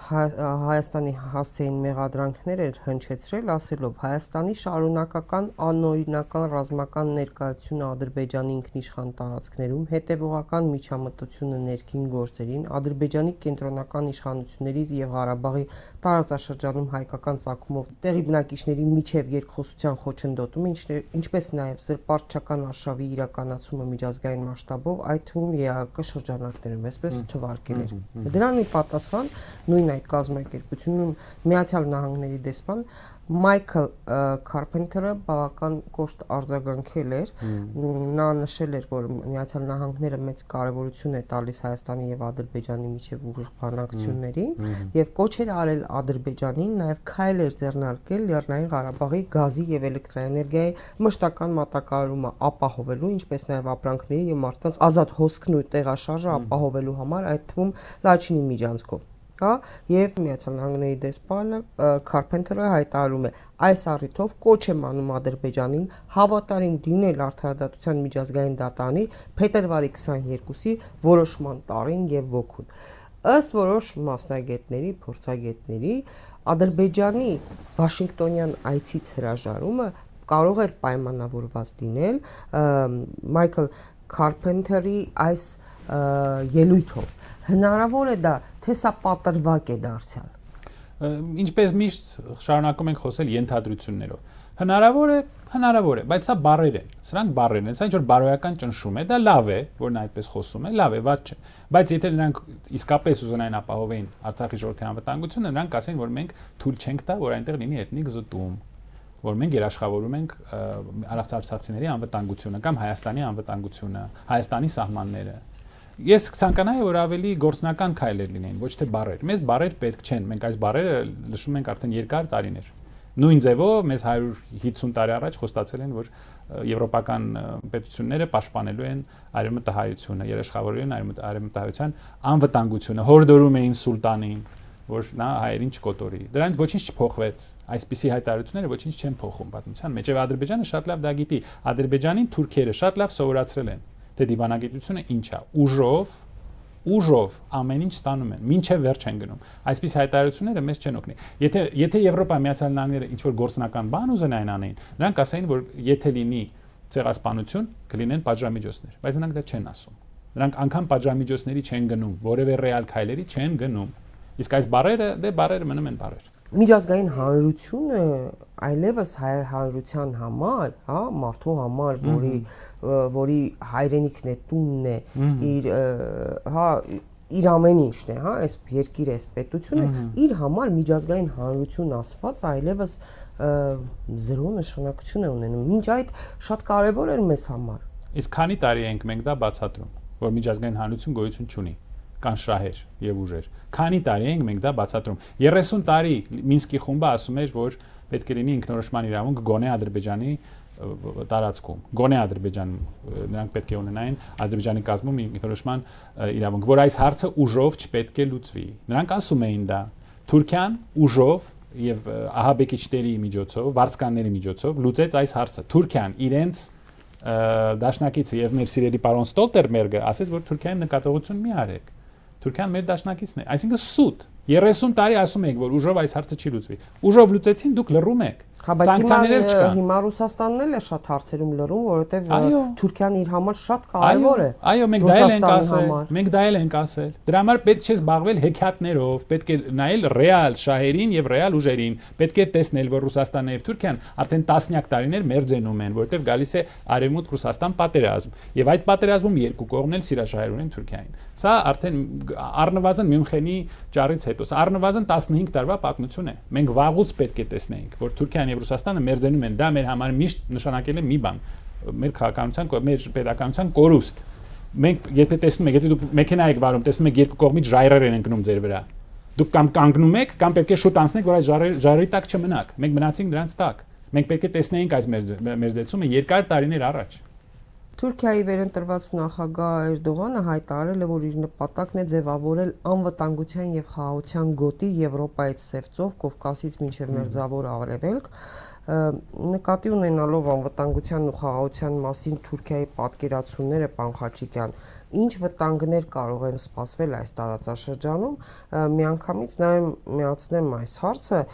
Հայաստանի հասցեին մեղադրանքներ էր հնչեցրել, ասելով Հայաստանի շարունակական անօրինական ռազմական ներկայությունը Ադրբեջանի ինքնիշխան տարածքներում, հետևողական միջամտությունը ներքին գործերին, Ադրբեջանի կենտրոնական իշխանությունների եւ Ղարաբաղի տարածաշրջանում հայկական ցակումով տեղի բնակիչների միջև երկխոսության խոչընդոտումը, ինչպես նաեւ զրպարտչական արշավի իրականացումը միջազգային մասշտաբով, այդ թվում ԵԱՀԿ շրջանակներում, այսպես թվարկել էր։ Դրան ի պատասխան նույն այդ կազմակերպությունում Միացյալ Նահանգների դեսպան Մայքլ Քարփենթերը բավական կոշտ արձագանքել էր, նա նշել էր, որ Միացյալ Նահանգները մեծ կարևորություն է տալիս Հայաստանի եւ Ադրբեջանի միջև ուղիղ բանակցություններին եւ կոչ էր արել Ադրբեջանին նաեւ քայլ էր ձեռնարկել Լեռնային Ղարաբաղի գազի եւ էլեկտրաէներգիայի մշտական մատակարարումը ապահովելու, ինչպես նաեւ ապրանքների եւ մարդկանց ազատ հոսքն ու տեղաշարժը ապահովելու համար, այդ թվում Լաչինի միջանցքով։ Հա, եւ Միացյալ Նահանգների դեսպանը Քարփենթերը հայտարարում է այս առիթով կոչ եմ անում Ադրբեջանին հավատարիմ լինել Արդարադատության միջազգային դատարանի փետրվարի քսաներկուսի որոշման տարին եւ ոգուն։ Ըստ որոշ մասնագետների, փորձագետների, Ադրբեջանի Վաշինգտոնյան այցից հրաժարումը կարող էր պայմանավորված լինել Մայքլ Քարփենթերի այս ելույթով։ Հնարավոր է դա, թե սա պատրվակ է դարձյալ։ Ինչպես միշտ շարունակում ենք խոսել ենթադրություններով։ Հնարավոր է, հնարավոր է, բայց սա բառեր են։ Սրանք բառեր են, սա ինչ որ բարոյական ճնշում է, դա լավ է, որ նա այդպես խոսում է, լավ է, վատ չէ։ Բայց եթե նրանք իսկապես ուզենային ապահովեին Արցախի ժողովրդի անվտանգությունը, նրանք ասեն, որ մենք թույլ չենք տա, որ այնտեղ լինի էթնիկ զտում, որ մենք երաշխավորում ենք արցախցիների անվտանգությունը կամ Հայաստանի անվտանգությունը, Հայաստանի սահմանները։ Ես կցանկանայի, որ ավելի գործնական քայլեր լինեին, ոչ թե բառեր։ Մեզ բառեր պետք չեն, մենք այս բառերը լսում ենք արդեն երկար տարիներ։ Նույն ձևով մեզ հարյուր հիսուն տարի առաջ խոստացել են, որ եվրոպական պետությունները պաշտպանելու են արևմտահայությունը, երաշխավորելու են արևմտահայության անվտանգությունը, հորդորում էին սուլտանին, որ նա հայերին չկոտորի։ Դրանից ոչինչ չփոխվեց։ Այսպիսի հայտարարությունները ոչինչ չեն փոխում պատմության մեջ։ Եվ Ադրբեջանը շատ լավ դա գիտի։ Ադրբեջանին թուրքերը շատ լավ սովորացրել են, թե դիվանագիտությունը ինչ է, ուժով, ուժով ամեն ինչ ստանում են, մինչև վերջ են գնում։ Այսպիսի հայտարարությունները մեզ չեն օգնի։ Եթե եթե Եվրոպայի Միացյալ Նահանգները ինչ որ գործնական բան ուզենային անեին, նրանք ասային, որ եթե լինի ցեղասպանություն, կլինեն պատժամիջոցներ, բայց նրանք դա չեն ասում։ Նրանք անգամ պատժամիջոցների չեն գնում, որևէ ռեալ քայլերի չեն գնում։ Իսկ այս բարերը, դե բարերը մնում են բարեր։ միջազգային հանրությունը այլևս հայ հանրության համար, հա, մարդու համար, որի որի հայրենիքն է, տունն է, իր հա իր ամեն ինչն է, հա, այս երկիրը, այս պետությունը, իր համար միջազգային հանրություն ասված այլևս զրո նշանակություն է ունենում։ Մինչ այդ շատ կարևոր էր մեզ համար։ Իսկ քանի տարի ենք մենք դա բացատրում, որ միջազգային հանրություն գոյություն չունի, կան շահեր եւ ուժեր։ Քանի տարի ենք մենք դա բացատրում։ երեսուն տարի Մինսկի խումբը ասում էր, որ պետք է լինի ինքնորոշման իրավունք գոնե Ադրբեջանի տարածքում, գոնե Ադրբեջանում նրանք պետք է ունենային Ադրբեջանի կազմում ինքնորոշման իրավունք, որ այս հարցը ուժով չպետք է լուծվի։ Նրանք ասում էին դա։ Թուրքիան ուժով եւ ահաբեկիչների միջոցով, վարձկանների միջոցով լուծեց այս հարցը։ Թուրքիան իրենց դաշնակիցը եւ մեր սիրելի պարոն Ստոլտերբերգը ասեց, որ Թուրքիային նկատողություն մի արեք։ Թուրքիան մեր դաշնակիցն է, այսինքն սուտ։ երեսուն տարի ասում եք, որ ուժով այս հարցը չի լուծվի։ Ուժով լուծեցին, դուք լռում եք։ Սանկցիաներ չկան։ Հիմա Ռուսաստանն էլ է շատ հարցերում լռում, որովհետև Թուրքիան իր համար շատ կարևոր է։ Այո, մենք դա էլ ենք ասել, մենք դա էլ ենք ասել։ Դրա համար պետք չէ զբաղվել հեքիաթներով, պետք է նայել ռեալ շահերին եւ ռեալ ուժերին։ Պետք է տեսնել, որ Ռուսաստանն եւ Թուրքիան արդեն տասնյակ տարիներ մերձենում են, որովհետև գալիս է Արևմուտք-Ռուսաստան պատերազմ, եւ այդ պատերազմում երկու կողմն էլ սիրաշահեր ունեն Թուրքիային։ Սա արդեն առնվազն Մյունխենի ճառից հետո, սա առնվազն տասնհինգ տարվա պատմություն է։ Մենք վաղուց պետք է տեսնեինք, որ Թուրքիան եւ Ռուսաստանը մերձենում են, դա մեր համար միշտ նշանակել է մի բան, մեր քաղաքականության, մեր պետականության կորուստ։ Մենք եթե տեսնում եք, եթե դուք մեքենա եք վարում, տեսնում եք երկու կողմից ժայռեր են ընկնում ձեր վրա։ Դուք կամ կանգնում եք, կամ պետք է շուտ անցնեք, որ այդ ժայռերի տակ չմնաք։ Մենք մնացինք դրանց տակ։ Մենք պետք է տեսնեինք այս մերձեցումը երկար տարիներ առաջ։ Թուրքիայի վերընտրված նախագահ Էրդողանը հայտարարել է, որ իր նպատակն է ձևավորել անվտանգության եւ խաղաղության գոտի Եվրոպայից Սևծով, Կովկասից մինչեւ Մերձավոր Արևելք, նկատի ունենալով անվտանգության ու խաղաղության մասին Թուրքիայի պատկերացումները, պարոն Խաչիկյան, ինչ վտանգներ կարող են սպասվել այս տարածաշրջանում, միանգամից նաեւ միացնեմ այս հարցը,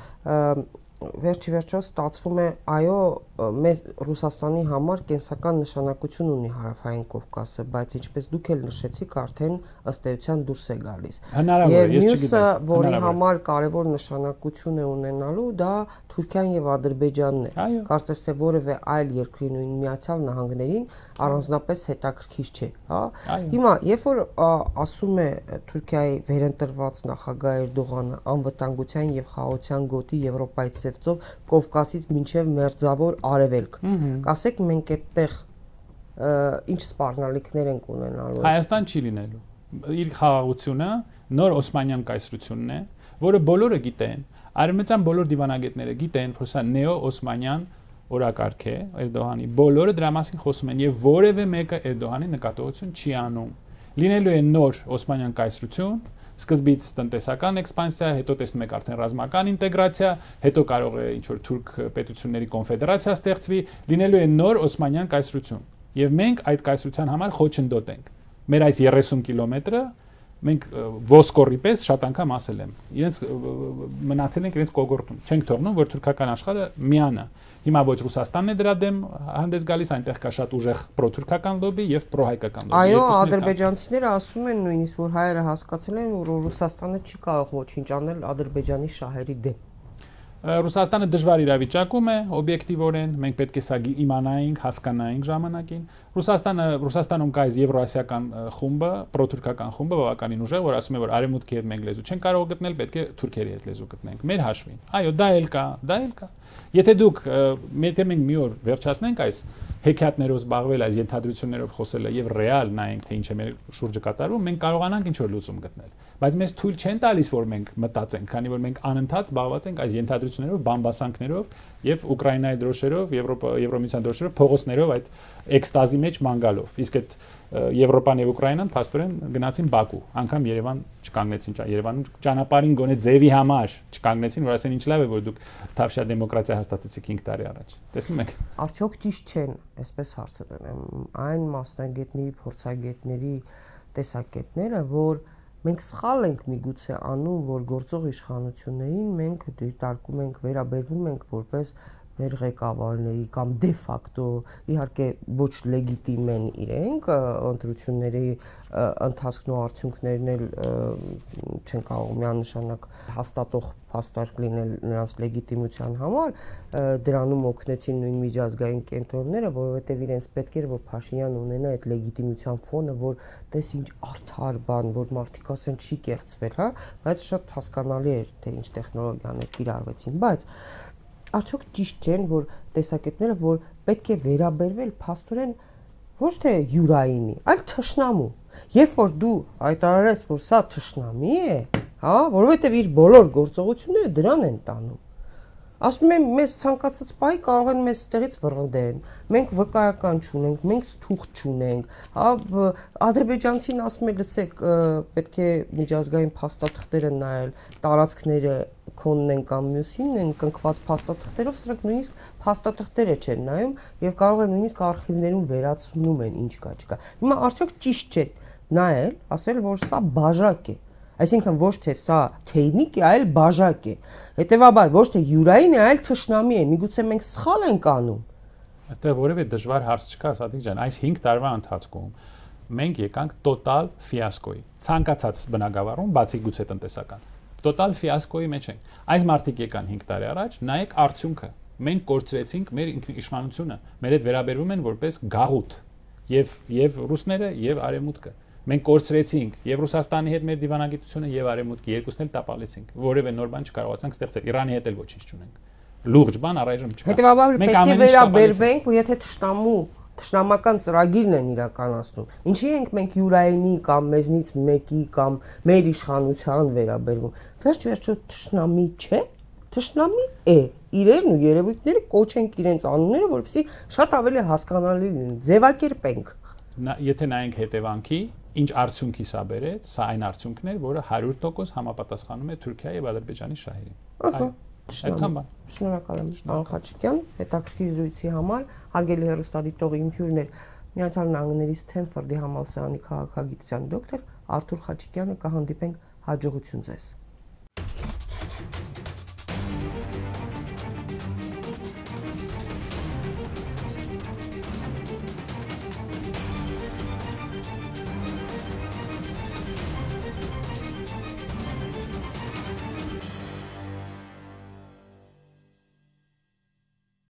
վերջի վերջո ստացվում է, այո, մեզ Ռուսաստանի համար կենսական նշանակություն ունի Հարավային Կովկասը, բայց ինչպես դուք էլ նշեցիք, արդեն ըստ էության դուրս է գալիս։ Հնարավոր է, ես չգիտեմ։ Եվ որի համար կարևոր նշանակություն է ունենալու, դա Թուրքիան եւ Ադրբեջանն է։ Կարծես թե որևէ այլ երկրի, նույն Միացյալ Նահանգներին առանձնապես հետաքրքիր չէ, հա։ Հիմա, երբ որ ասում է Թուրքիայի վերընտրված նախագահ Էրդողանը անվտանգության եւ խաղաղության գոտի Եվրոպայից Սևծով, Կովկասից մինչեւ Մերձավոր Արևելք, կասեք մենք այդտեղ ինչ սպառնալիքներ ենք ունենալու։ Հայաստան չի լինելու։ Իր խաղաղությունը նոր Օսմանյան կայսրությունն է, որը բոլորը գիտեն, արևմտյան բոլոր դիվանագետները գիտեն, որ սա նեո-օսմանյան օրակարգ է Էրդողանի, բոլորը դրա մասին խոսում են եւ որևէ մեկը Էրդողանի նկատողություն չի անում։ Լինելու է նոր Օսմանյան կայսրություն, սկզբից տնտեսական էքսպանսիա, հետո տեսնում եք արդեն ռազմական ինտեգրացիա, հետո կարող է ինչ-որ թուրք պետությունների կոնֆեդերացիա ստեղծվի, լինելու է նոր Օսմանյան կայսրություն։ Եվ մենք այդ կայսրության համար խոչընդոտ ենք։ Մեր այս երեսուն կիլոմետրը մենք ոսկորի պես շատ անգամ ասել եմ, իրենց մնացել ենք իրենց կողորտում, չենք թողնում, որ թուրքական աշխարհը միանա։ Հիմա ոչ Ռուսաստանն է դրա դեմ հանդես գալիս, այնտեղ կա շատ ուժեղ պրոթուրքական լոբի եւ պրոհայկական լոբի։ Այո, ադրբեջանցիները ասում են նույնիսկ, որ հայերը հասկացել են, որ Ռուսաստանը չի կարող ոչինչ անել Ադրբեջանի շահերի դեմ։ Ռուսաստանը դժվար իրավիճակում է, օբյեկտիվորեն, մենք պետք է սա իմանայինք, հասկանայինք ժամանակին։ Ռուսաստանը, Ռուսաստանում կա այս եվրոասիական խումբը, պրոթուրքական խումբը բավականին ուժեղ, որ ասում է, որ արևմուտքի հետ մենք լեզու չենք կարող գտնել, պետք է թուրքերի հետ լեզու գտնենք, մեր հաշվին։ Այո, դա էլ կա, դա էլ կա։ Եթե դուք եթե մենք մի օր վերջացնենք այս հեքիաթներով զբաղվել, այս ենթադրություններով խոսելը եւ ռեալ նայենք, թե ինչ է մեր շուրջը կատարվում, մենք կարողանանք ինչ-որ լուծում գտնել։ Բայց մեզ թույլ չեն տալիս, որ մենք մտածենք, քանի որ մենք անընդհատ զբաղված ենք այս ենթադրություններով, բամբասանքներով եւ Ուկրաինայի դրոշերով, Եվրոպա, Եվրոմիության դրոշերով, փողոցներով այդ էքստազի մեջ մանգալով։ Իսկ այդ Եվրոպան եւ Ուկրաինան փաստորեն գնացին Բաքու, անգամ Երևան չկանգնեցին, Երևանում ճանապարհին գոնե ձևի համար չկանգնեցին, որ ասեն ինչ լավ է, որ դուք թավշյա դեմոկրատիա հաստատեցիք հինգ տարի առաջ։ Տեսնում եք։ Արդյոք ճիշտ չեն, այսպես հարցը դնեմ, այն մասնագետների, փորձագետների տեսակետները, որ մենք սխալ ենք միգուցե անում, որ գործող իշխանություններին մենք դիտարկում ենք, վերաբերվում ենք որպես մեր ղեկավարների կամ դե ֆակտո իհարկե ոչ լեգիտիմ են իրենք, ընտրությունների ընթացքն ու արդյունքներն էլ չեն կարող միանշանակ հաստատող փաստարկ լինել նրանց լեգիտիմության համար, դրանում օգնեցին նույն միջազգային կենտրոնները, որովհետև իրենց պետք էր, որ Փաշինյանը ունենա այդ լեգիտիմության ֆոնը, որ տես ինչ արդար բան, որ մարդիկ ասեն չի կեղծվել, հա, բայց շատ հասկանալի էր, թե ինչ տեխնոլոգիաներ կիրառվեցին, բայց արդյոք ճիշտ չեն, որ տեսակետները, որ պետք է վերաբերվել փաստորեն ոչ թե յուրայինի, այլ թշնամու։ Երբ որ դու հայտարարես, որ սա թշնամի է, հա, որովհետև իր բոլոր գործողությունները դրան են տանում։ Ասում եմ, մեզ ցանկացած պահի կարող են մեզ ստեղից վռնդեն, մենք վկայական չունենք, մենք թուղթ չունենք, հա, ադրբեջանցին ասում է, լսեք, պետք է միջազգային փաստաթղթերը նայել, տարածքները քոնն են կամ մյուսին են կնքված փաստաթղթերով, սրանք նույնիսկ փաստաթղթերը չեն նայում եւ կարող են նույնիսկ արխիվներում վերացնում են ինչ կա չկա։ Հիմա արդյոք ճիշտ չէ նայել, ասել, որ սա բաժակ է։ Այսինքն ոչ թե սա թեյնիկ է, այլ բաժակ է։ Հետևաբար ոչ թե յուրային է, այլ թշնամի է։ Միգուցե մենք սխալ ենք անում։ Այստեղ որևէ դժվար հարց չկա, Սադիկ ջան, այս հինգ տարվա ընթացքում մենք եկանք տոտալ ֆիասկոյի։ Ցանկացած բնակավարում, բացի գուցե տնտեսական, տոտալ ֆիասկոյի մեջ ենք։ Այս մարդիկ եկան հինգ տարի առաջ, նայեք արդյունքը։ Մենք կորցրեցինք մեր իշխանությունը, մեր հետ վերաբերվում են որպես գաղութ, եւ եւ ռուսները եւ արևմուտքը։ Մենք կորցրեցինք եւ Ռուսաստանի հետ մեր դիվանագիտությունը եւ արևմուտքի երկուսն էլ տապալեցինք։ Որևէ նոր բան չկարողացանք ստեղծել։ Իրանի հետ էլ ոչինչ չունենք։ Լուրջ բան առայժմ չկա։ Հետևաբար պետք է վերաբերվենք, ու եթե թշնամու Թշնամական ծրագիրն են իրականացնում։ Ինչի ենք մենք յուրայինի կամ մեզնից մեկի կամ մեր իշխանության վերաբերվում։ Վերջ-վերջո թշնամի չէ, թշնամի է։ Իրերն ու երևույթները կոչենք իրենց անունները, որպեսզի շատ ավելի հասկանալի լինի, ձևակերպենք։ Եթե նայենք հետևանքի, ինչ արդյունքի սա բերեց, սա այն արդյունքն էր, որը հարյուր տոկոս համապատասխանում է Թուրքիայի եւ Ադրբեջանի շահերին։ Այո։ Այդքան բան։ Շնորհակալ եմ, պարոն Խաչիկյան, հետաքրքիր զրույցի համար, հարգելի հեռուստադիտողի իմ հյուրն էր Միացյալ Նահանգների Սթենֆորդի համալսարանի քաղաքագիտության դոկտոր Արթուր Խաչիկյանը, կհանդիպենք հաջողություն ձեզ։